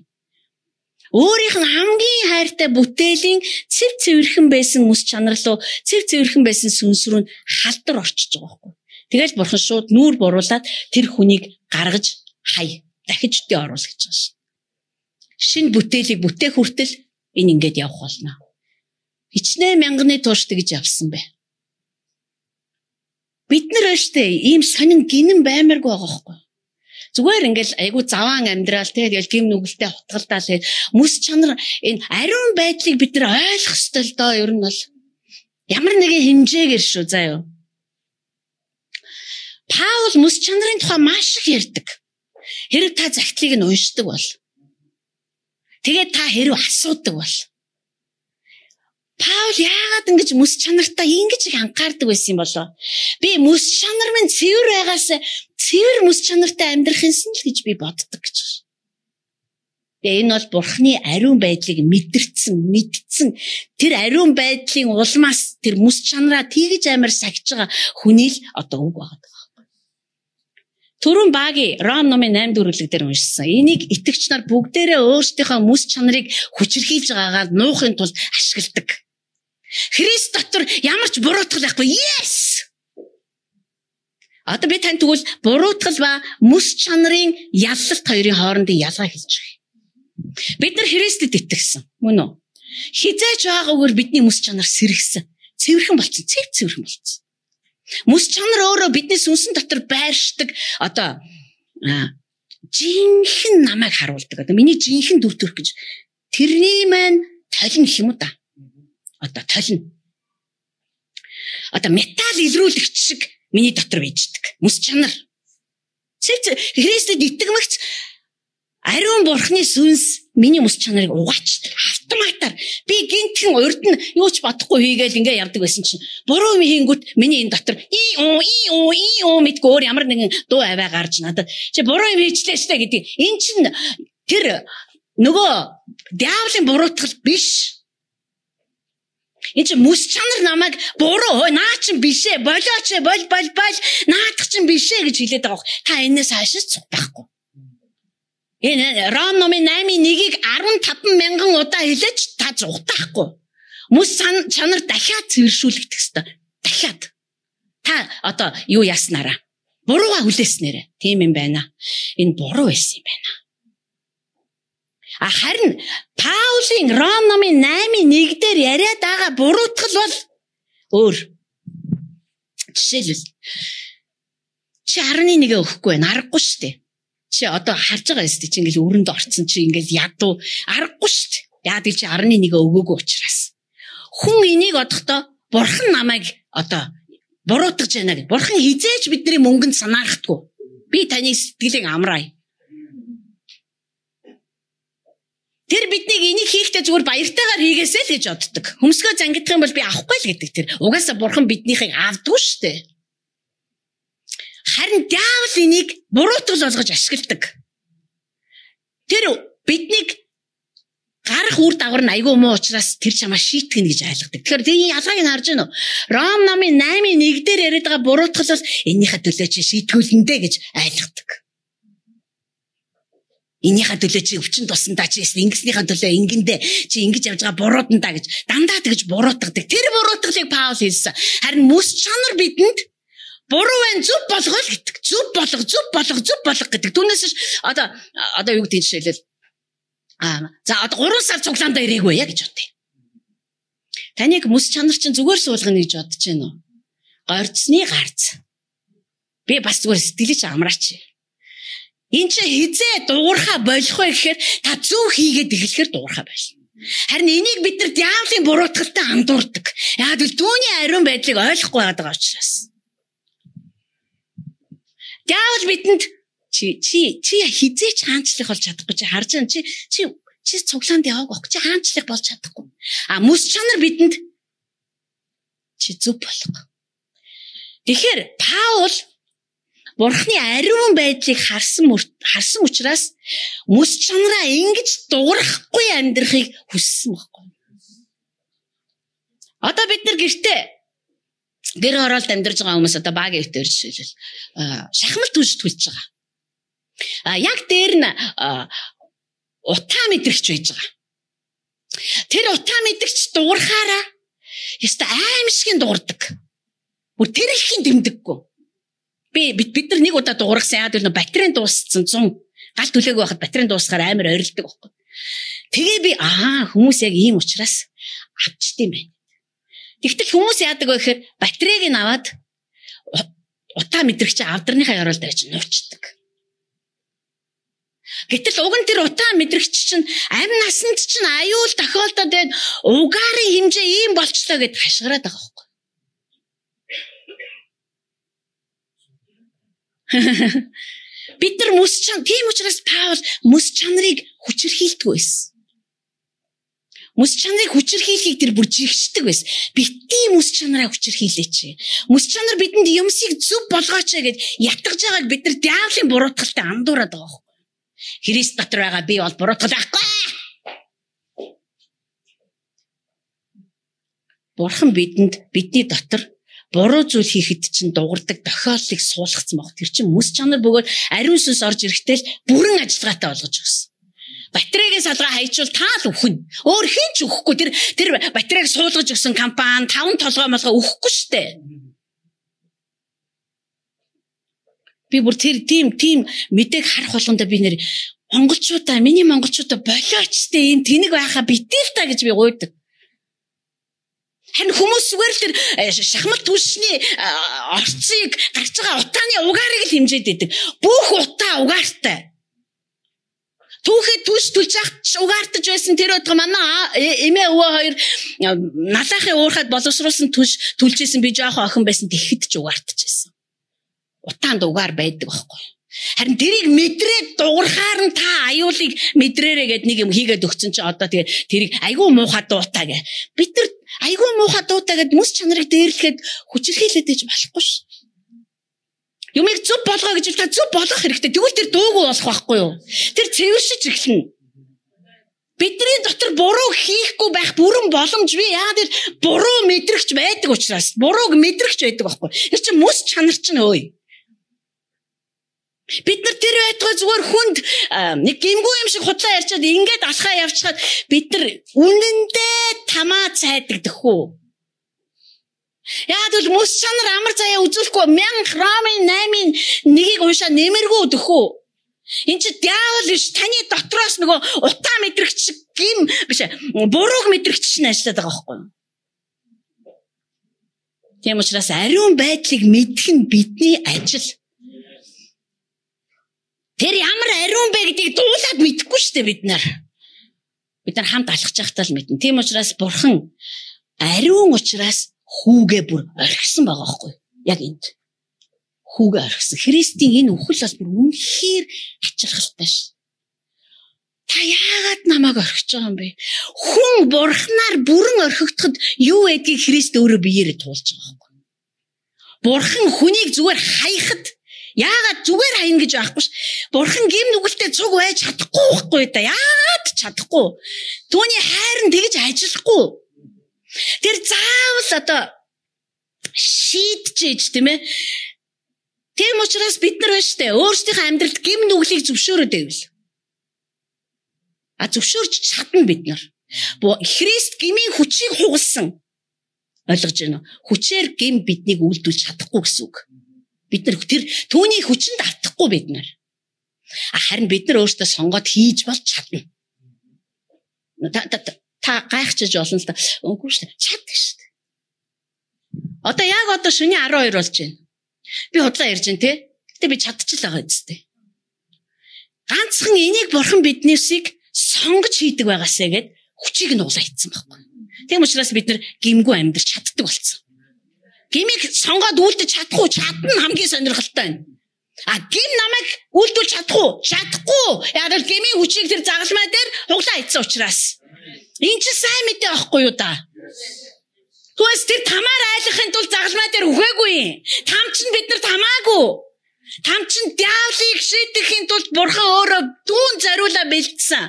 Өөрийнх нь хамгийн хайртай бүтээлийн цэв цэвэрхэн байсан мэс чанар руу цэв цэвэрхэн байсан сүнс рүү халдвар орчиж байгаа байхгүй. Тэгэл бурхан шууд нүүр буруулаад тэр хүнийг гаргаж хай. Дахиж тээ оруул гэж байгаа ш. Шинэ бүтээлийг бүтээх хүртэл энэ ингэж явах болно. Хичнээн мянганы турш тэгж явсан бэ. Бид нар өштэй ийм сонин гинэн баймаргүй байгаа байхгүй. Зүгээр ингээл айгу заваан амьдрал тэгэл гим нүгэлтэй хутгалдаа л мэс чанар энэ ариун байдлыг бид нар ойлгох ёстой л доо ер нь бол ямар нэгэн хэмжээгээр шүү заа юу. Паул мэс чанарын тухай маш их ярьдаг. Хэрэг та загтлыг нь уншдаг бол тэгээд та хэрэг асуудаг бол Паул яагаад ингэж мэс чанартаа ингэж их анхаардаг байсан юм болоо? Би мэс чанар минь цэвэр байгаас цэвэр мэс чанартай амьдрах юмсан л гэж би боддог гэж байна. Тэгээ энэ бол бурхны ариун байдлыг мэдсэн тэр ариун байдлын улмаас тэр мэс чанараа тэгж амар сахиж байгаа хүний л одоо үг байгаа байхгүй. Түрүүн Баги Ром номын 8 дүрлэг дээр уншсан. Энийг итгэгч нар бүгдээрээ өөрсдийнхөө мэс чанарыг хүчрхийлж байгаагаар нуухын тулд ашигладаг. Христ дотор ямар ч буруутгал байхгүй. Yes! Одоо би танд тэгвэл буруутгал ба мэс чанарын ялалт хоёрын хоорондын ялгаа хэлж байгаа. Бид нар Христэд итгэсэн. Мөн үү? Хизээч байгаагаар бидний мэс чанар сэргсэн. цэвэрхэн болсон, цэвэрхэн болсон. Мэс чанар өөрөө бидний сүнсэн дотор байршдаг одоо жинхэнэ намайг харуулдаг. Одоо миний жинхэнэ дүр төрх гэж тэрний маань толин гэх юм уу да. Одоо толин. Одоо металл илрүүлэгч шиг миний дотор байждаг. Мэс чанар. Христэд итгэмэгч ариун бурхны сүнс миний мэс чанарыг угаачдаг. Автоматар. Би гинтхэн урд нь юу ч бодохгүй хийгээл ингээ явдаг байсан чинь буруу хийнгүүт миний энэ дотор мэдгүй өөр ямар нэгэн дуу аваа гарч надад чи буруу юм хийчлээ штэ гэдэг. Эн чинь тэр нөгөө диаволын буруутгал биш. Энд чинь мэс чанар намайг буруу наа чин бишээ болооч бол наадах чин бишээ гэж хэлээд байгаа. Та энэс хаашаа цуг байхгүй. Энэ Ром номын 8:1-ийг 15,000 удаа хэлээч та зугатахгүй. Мэс чанар дахиад цэвэршүүлэгдэх ёстой. Дахиад. Та одоо юу яснараа? Бурууга хүлээснээрээ. Тийм юм байна. Энэ буруу байсан юм байна. Харин Паулийн Ром номын 8:1 дээр яриад байгаа буруутгал бол өөр. Жишээлбэл чи 11 өгөхгүй байна. Аргагүй шүү дээ. Чи одоо харж байгаа юм чи ингээл өрөнд орцсон чи ингээл ядуу аргагүй шүү дээ. Яа гэж чи 11 өгөөгүй учраас. Хүн энийг одохдоо бурхан намайг одоо буруутгаж байна гэж. Бурхан хизээж бидний мөнгөнд санаардаггүй. Би таны сэтгэлийг амраая. Тэр биднийг энийг хийхдээ зүгээр баяртайгаар хийгээсэй л гэж боддог. Хөмсгөө зангидах юм бол би авахгүй л гэдэг тэр. Угаасаа бурхан биднийхийг авдгүй шүү дээ. Харин диавол энийг буруутгал болгож ашигладаг. Тэр биднийг гарах үр дагавар нь айгүй муу учраас тэр чамаа шийтгэн гэж ойлгодог. Тэгэхээр тийм ялгааг нь харж байна уу? Ром номын 8:1 дээр яриад байгаа буруутгал бол энийхээ төлөө чи шийтгүүлэндэ гэж ойлгодог. Энийхээ төлөө чи өвчин тусандаа чи ингэснийхээ төлөө ингэндэ чи ингэж явж байгаа буруудандаа гэж дандаа тэгж буруутгадаг. Тэр буруутгалыг Паул хэлсэн. Харин мэс чанар бидэнд буруу байна зүв болгоо л гэдэг. Зүв болго гэдэг. Түүнээс одоо юу гэдэг жишээлбэл за одоо 3 сар цуглаандаа ирээгүй яа гэж бодъё. Таныг мэс чанар чинь зүгээр суулгана гэж бодож байна уу? Горцны гарц. Би бас зүгээр сэтгэлээ чи амраач. Энд чи хизээ дуурхаа болох вэ гэхээр та зөв хийгээд эхлэхээр дуурхаа болно. Харин энийг бид нар диаволын буруутгалтай андуурдаг. Яг л түүний ариун байдлыг ойлгохгүй байгаа учраас. Диавол бидэнд чи хизээч хаанчлах болж чадахгүй чи харж байна чи цуглаанд яваагүй чи хаанчлах болж чадахгүй. Мэс чанар бидэнд чи зөв болох. Тэгэхээр Паул Бурхны ариун байдлыг харсан учраас мэс чанараа ингэж дуурахгүй амьдрахыг хүссэн байхгүй. Одоо бид нар гэр оролт амьдарч байгаа хүмүүс одоо багийн өвтөр жишээлбэл шахмал түлж байгаа. Яг дээр нь утаа мэдрэгч байж байгаа. Тэр утаа мэдрэгч дуурхаараа ёстой аимшигын дуурдаг. Бүр тэр ихийн дэмдэггүй. Бид нар нэг удаа дуургасан яа гэвэл батарейн дууссан 100 гал түлээгүй байхад батарейн дуусахаар амар ойрлдог байхгүй. Тэгээ би хүмүүс яг ийм учраас авчдсан байна. Тэгтэл хүмүүс яадаг вэ гэхээр батарейг нь аваад утаа мэдрэгч авдарныхаа оролд байж нуучдаг. Гэтэл уг нь тэр утаа мэдрэгч чинь амь насанд чинь аюул тохиолдоод байна. Угаарын хэмжээ ийм болчлоо гэд хашгираад байгаа байхгүй. Бид нар мэс чанар тийм учраас Паул мэс чанарыг хүчрхийлдэг байсан. Мэс чанарыг хүчрхийлхийг тэр бүр жигшдэг байсан. Битгий мэс чанараа хүчрхийлээч. Мэс чанар бидэнд юмсыг зөв болгооч гэд ятгаж байгааг бид нар диаволын буруутгалтай андуураад байгаа байхгүй. Христ дотор байгаа би бол буруутгал байхгүй. Бурхан бидний дотор буруу зүйл хийхэд чинь дуурдаг тохиолдлыг суулгацсан баг. Тэр чинь мэс чанар бөгөөд ариун сүнс орж ирэхдээ л бүрэн ажиллагаатай болгож өгсөн. Батарейгийн салгаа хайчвал таал өхнө. Өөр хэн ч өхгүй. Тэр батарейг суулгаж өгсөн компани 5 толгой өгөхгүй штэ. Би бүр тийм мэдээг харах болгондоо би нэр миний монголчуудаа болооч штэ ийм тэнэг байхаа битэл та гэж би гуйдаг. Харин хүмүүс зүгээр л тэр шахмал түлшний орцыг гарч байгаа утааны угаарыг л хэмжээд идэг. Бүх утаа угаартай. Түүхэд түлш түлж яхад угаартаж байсан тэр өдгөө манай эмээ өвөө хоёр налаахын уурхад боловсруулсан түлш түлжсэн би жоохон охин байсан тэгэхэд ч угаартаж байсан. Утаанд угаар байдаг байхгүй. Харин тэрийг мэдрээд дуурхаар нь та аюулыг мэдрээрээ гэд нэг юм хийгээд өгсөн чи одоо тэгээ тэрийг айгүй муухай дуутаа гэ. Бид нар айгүй муухай дуутаа гэд мэс чанарыг дээрлэхэд хүчирхийлээд иж болохгүй ш. Юмыг зүв болгоо гэж та зүв болгох хэрэгтэй. Тэгвэл тэр дуугүй болох байхгүй юу? Тэр цэвэршиж эхэлнэ. Бидний дотор буруу хийхгүй байх бүрэн боломжгүй. Яагаад тэр буруу мэдрэгч байдаг учраас бурууг мэдрэгч байдаг байхгүй. Тэр чинь мэс чанар чинь өөй. Бид нар тэр байтугай зүгээр хүнд нэг гимгүй юм шиг худлаа ярьчаад ингээд алхаа явчихад бид нар үнэндээ тамаа цайдагдах уу? Яагаад л мөс чанар амар заяа үзүүлэхгүй 1000 Ромын 8-ыг уншаа нэмэргүй өдөх үү? Энд чи диавол биш таны дотроос нөгөө утаа мэдрэгч гим биш бурууг мэдрэгч чинь ажиллаад байгаа байхгүй юу? Тийм учраас ариун байдлыг мэдэх нь бидний ажил. Тэр ямар ариун бэ гэдгийг дуулаад мэдэхгүй шүү дээ бид нар. Бид нар хамт алхаж байхдаа л мэднэ. Тийм учраас бурхан ариун учраас хүүгээ бүр орхисон байгаа байхгүй юу? Яг энд. Хүүгээ орхисон. Христийн энэ үхэл бас бүр үнэхээр ачаалхалтай ш. Та яагаад намайг орхиж байгаа юм бэ? Хүн бурхнаар бүрэн орхигдоход юу гэдгийг Христ өөрөө биеэрээ туулж байгаа байхгүй юу? Бурхан хүнийг зүгээр хаяхад яагаад зүгээр хаяна гэж байхгүй ш. Бурхан гим нүгэлтэй цуг байж чадахгүй байхгүй да. Яагаад чадахгүй? Түүний хайр нь тэгж ажиллахгүй. Тэр заавал одоо шийдчихэж тийм ээ. Тийм учраас бид нар байна штэ өөрсдийнхөө амьдралд гим нүглийг зөвшөөрөөд байвал. Зөвшөөрч чадна бид нар. Христ гмийн хүчийг хугалсан. Ойлгож байна уу? Хүчээр гим биднийг үйлдүүлж чадахгүй гэсэн үг. Бид нар тэр түүний хүчинд автахгүй бид нар. Харин бид нар өөрсдөө сонгоод хийж болж чадна. Та гайхчихж болно л да. Үгүй шүү дээ. Чаддаг шүү дээ. Одоо яг одоо шөнийн 12 болж байна. Би худлаа ярьж байна те. Гэтэ би чадчихлаа үстэй. Ганцхан энийг бурхан биднээсийг сонгож хийдэг байгаасаа гэд хүчийг нь угсаа хийцэн байхгүй. Тийм учраас бид нар гимгүй амьдрч чаддаг болсон. Гимиг сонгоод үлдэж чадахгүй чадна хамгийн сонирхолтой нь. Гим намайг үлдүүлж чадахгүй. Яг л гмийн хүчийг тэр загалмай дээр хуглаа хийсэн учраас. Энд чи сайн мэдээ байхгүй юу да? Түэс тэр тамаар айлахын тулд загалмай дээр үхээгүй. Там чинь бид нар тамаагүй. Там чинь диавлыг шийдэхийн тулд бурхан өөрөө дүүн зориулаа бэлдсэн.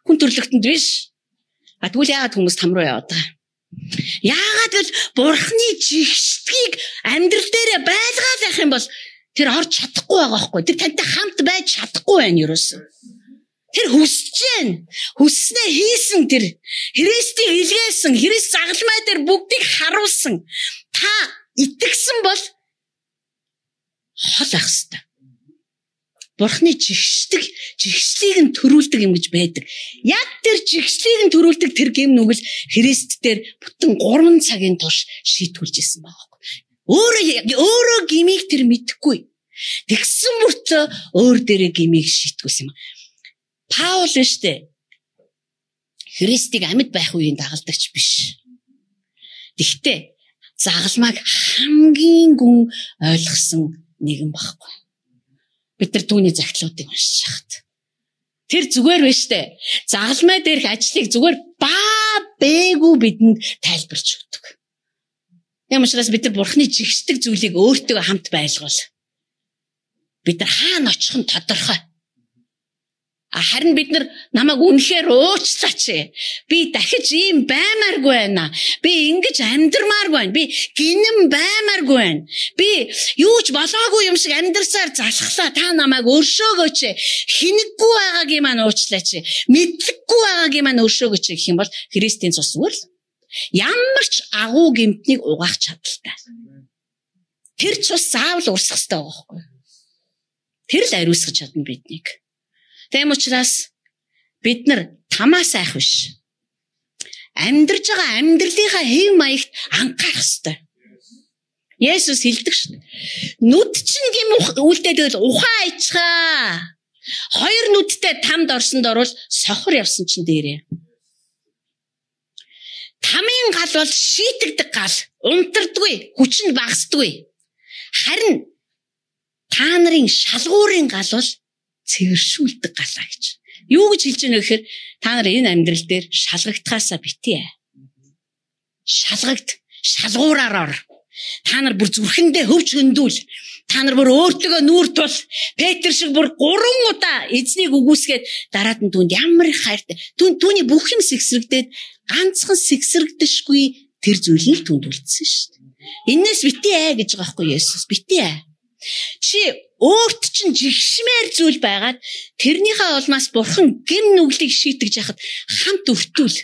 Хүн төрлөختөнд биш. Тэгвэл яагаад хүмүүс там руу яваад байгаа? Яагаад л бурханы жигшдгийг амьдрал дээр байлгаад байх юм бол тэр орж чадахгүй байгаа байхгүй. Тэр тантай хамт байж чадахгүй байна ерөөсөн. Тэр хүсэж байна. Хүсснээ хийсэн тэр. Христийг илгээсэн. Христ загалмай дээр бүгдийг харуулсан. Та итгэсэн бол хол ах хэвээр. Бурхны жигшлийг нь төрүүлдэг юм гэж байдаг. Яг тэр жигшлийг нь төрүүлдэг тэр гим нүгэл Христ дээр бүтэн 3 цагийн турш шийтгүүлж исэн байгаа байхгүй. Өөрөө гимийг тэр мэдэхгүй. Тэгсэн мөртөө өөр дээрээ гимийг шийтгүүлсэн юм. Паул штэ Христийг амьд байх үеийн дагалдагч биш. Тэгтээ загалмайг хамгийн гүн ойлгосон нэгэн багхгүй. Бид нар түүний загтлуудыг уншиж хахад. Тэр зүгээр байна штэ. Загалмай дээрх ажлыг зүгээр бээгүү бидэнд тайлбарч өгдөг. Яа учраас бид нар бурхны жигшдэг зүйлийг өөртөө хамт байлгуул. Бид нар хаана очих нь тодорхой. Харин бид нар намайг үнэхээр уучлаач. Би дахиж ийм баймааргүй байна. Би ингэж амьдрмааргүй байна. Би гинэн баймааргүй байна. Би юу ч болоогүй юм шиг амьдрсаар залхлаа. Та намайг өршөөгөөч. Хинэггүй байгаагийн маань уучлаач. Мэдлэггүй байгаагийн маань өршөөгөөч гэх юм бол Христийн цус зүгээр л ямар ч агуу гэмтнийг угаах чадaltaй. Тэр цус заавал урсах хэрэгтэй байгаа байхгүй. Тэр л ариусгаж чадна биднийг. Тэм учраас бид нар тамаас айх биш. Амьдарж байгаа амьдралынхаа хэв маягт анхаарах ёстой. Есүс хэлдэг шүү дээ. Нүд чинь гэм үлдээд байвал ухаан ичхаа. Хоёр нүдтэй тамд орсонд орвол сохор явсан чинь дээрээ. Тамийн гал бол шийтгдэг гал, унтардаггүй, хүч нь багасдаггүй. Харин та нарын шалгуурын гал бол цэвэршүүлдэг галаа гэж. Юу гэж хэлж байна вэ гэхээр та нар энэ амьдрал дээр шалгагдахаасаа битээ. Шалгуураар ор. Та нар бүр зүрхэндээ хөвч хөндүүл. Та нар бүр өөртөө нүүр тул. Петр шиг бүр 3 удаа эзнийг үгүйсгээд дараад нь түнд ямар их хайртай. Түүний бүх юм сэгсрэгдээд ганцхан сэгсрэгдэшгүй тэр зүйл нь түнд үлдсэн шүү дээ. Иннээс битээ гэж байгаа байхгүй Есүс. Битээ. Чи өөрт чинь жигшмээр зүйл байгаад тэрнийхээ улмаас бурхан гэм нүглийг шийтгэж яхад хамт өртүүл.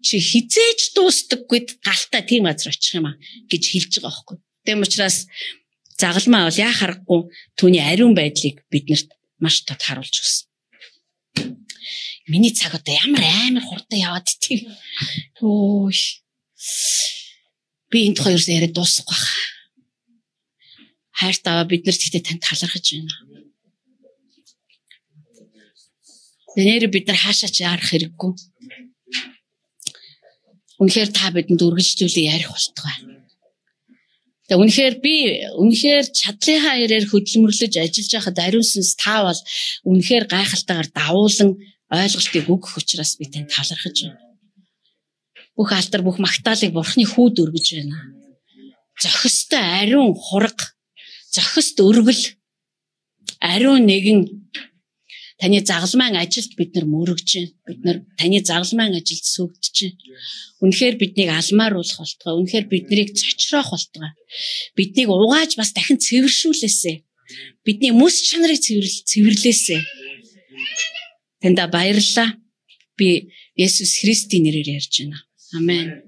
Чи хизээж дуустдаггүйд галтаа тийм газар очих юм а гэж хэлж байгаа байхгүй. Тэм учраас загалмаа бол яа харахгүй түүний ариун байдлыг биднэрт маш тод харуулж өгсөн. Миний цаг одоо ямар амар хурдан яваад тийм. Өө. Би энэ хоёроос яриад дуусах байх. Хайртаа биднэрт ихтэй танд талархаж байна. Нэр бид нар хаашаач ярах хэрэггүй. Үнэхээр та бидэнд үргэлжлүүлээ ярих болтугай. Тэгээ үнэхээр чадлынхаа ярээр хөдөлмөрлөж ажиллаж байхад ариун сүнс та бол үнэхээр гайхалтайгаар давуулан ойлголтыг өгөх учраас би танд талархаж байна. Бүх алдар, бүх магтаалыг Бурхны хүүд өргөж байна. Зохистой ариун хураг, зохист өргөл, ариун нэгэн таны загалмайн ажилд бид нар мөрөгж байна. Бид нар таны загалмайн ажилд сүгдэж байна. Үнэхээр биднийг алмааруулах болтугай. Үнэхээр биднийг цочроох болтугай. Биднийг угааж бас дахин цэвэршүүлээсэ. Бидний мэс чанарыг цэвэрлээсэ. Танда баярлалаа. Би Есүс Христийн нэрээр ярьж байна. Амен.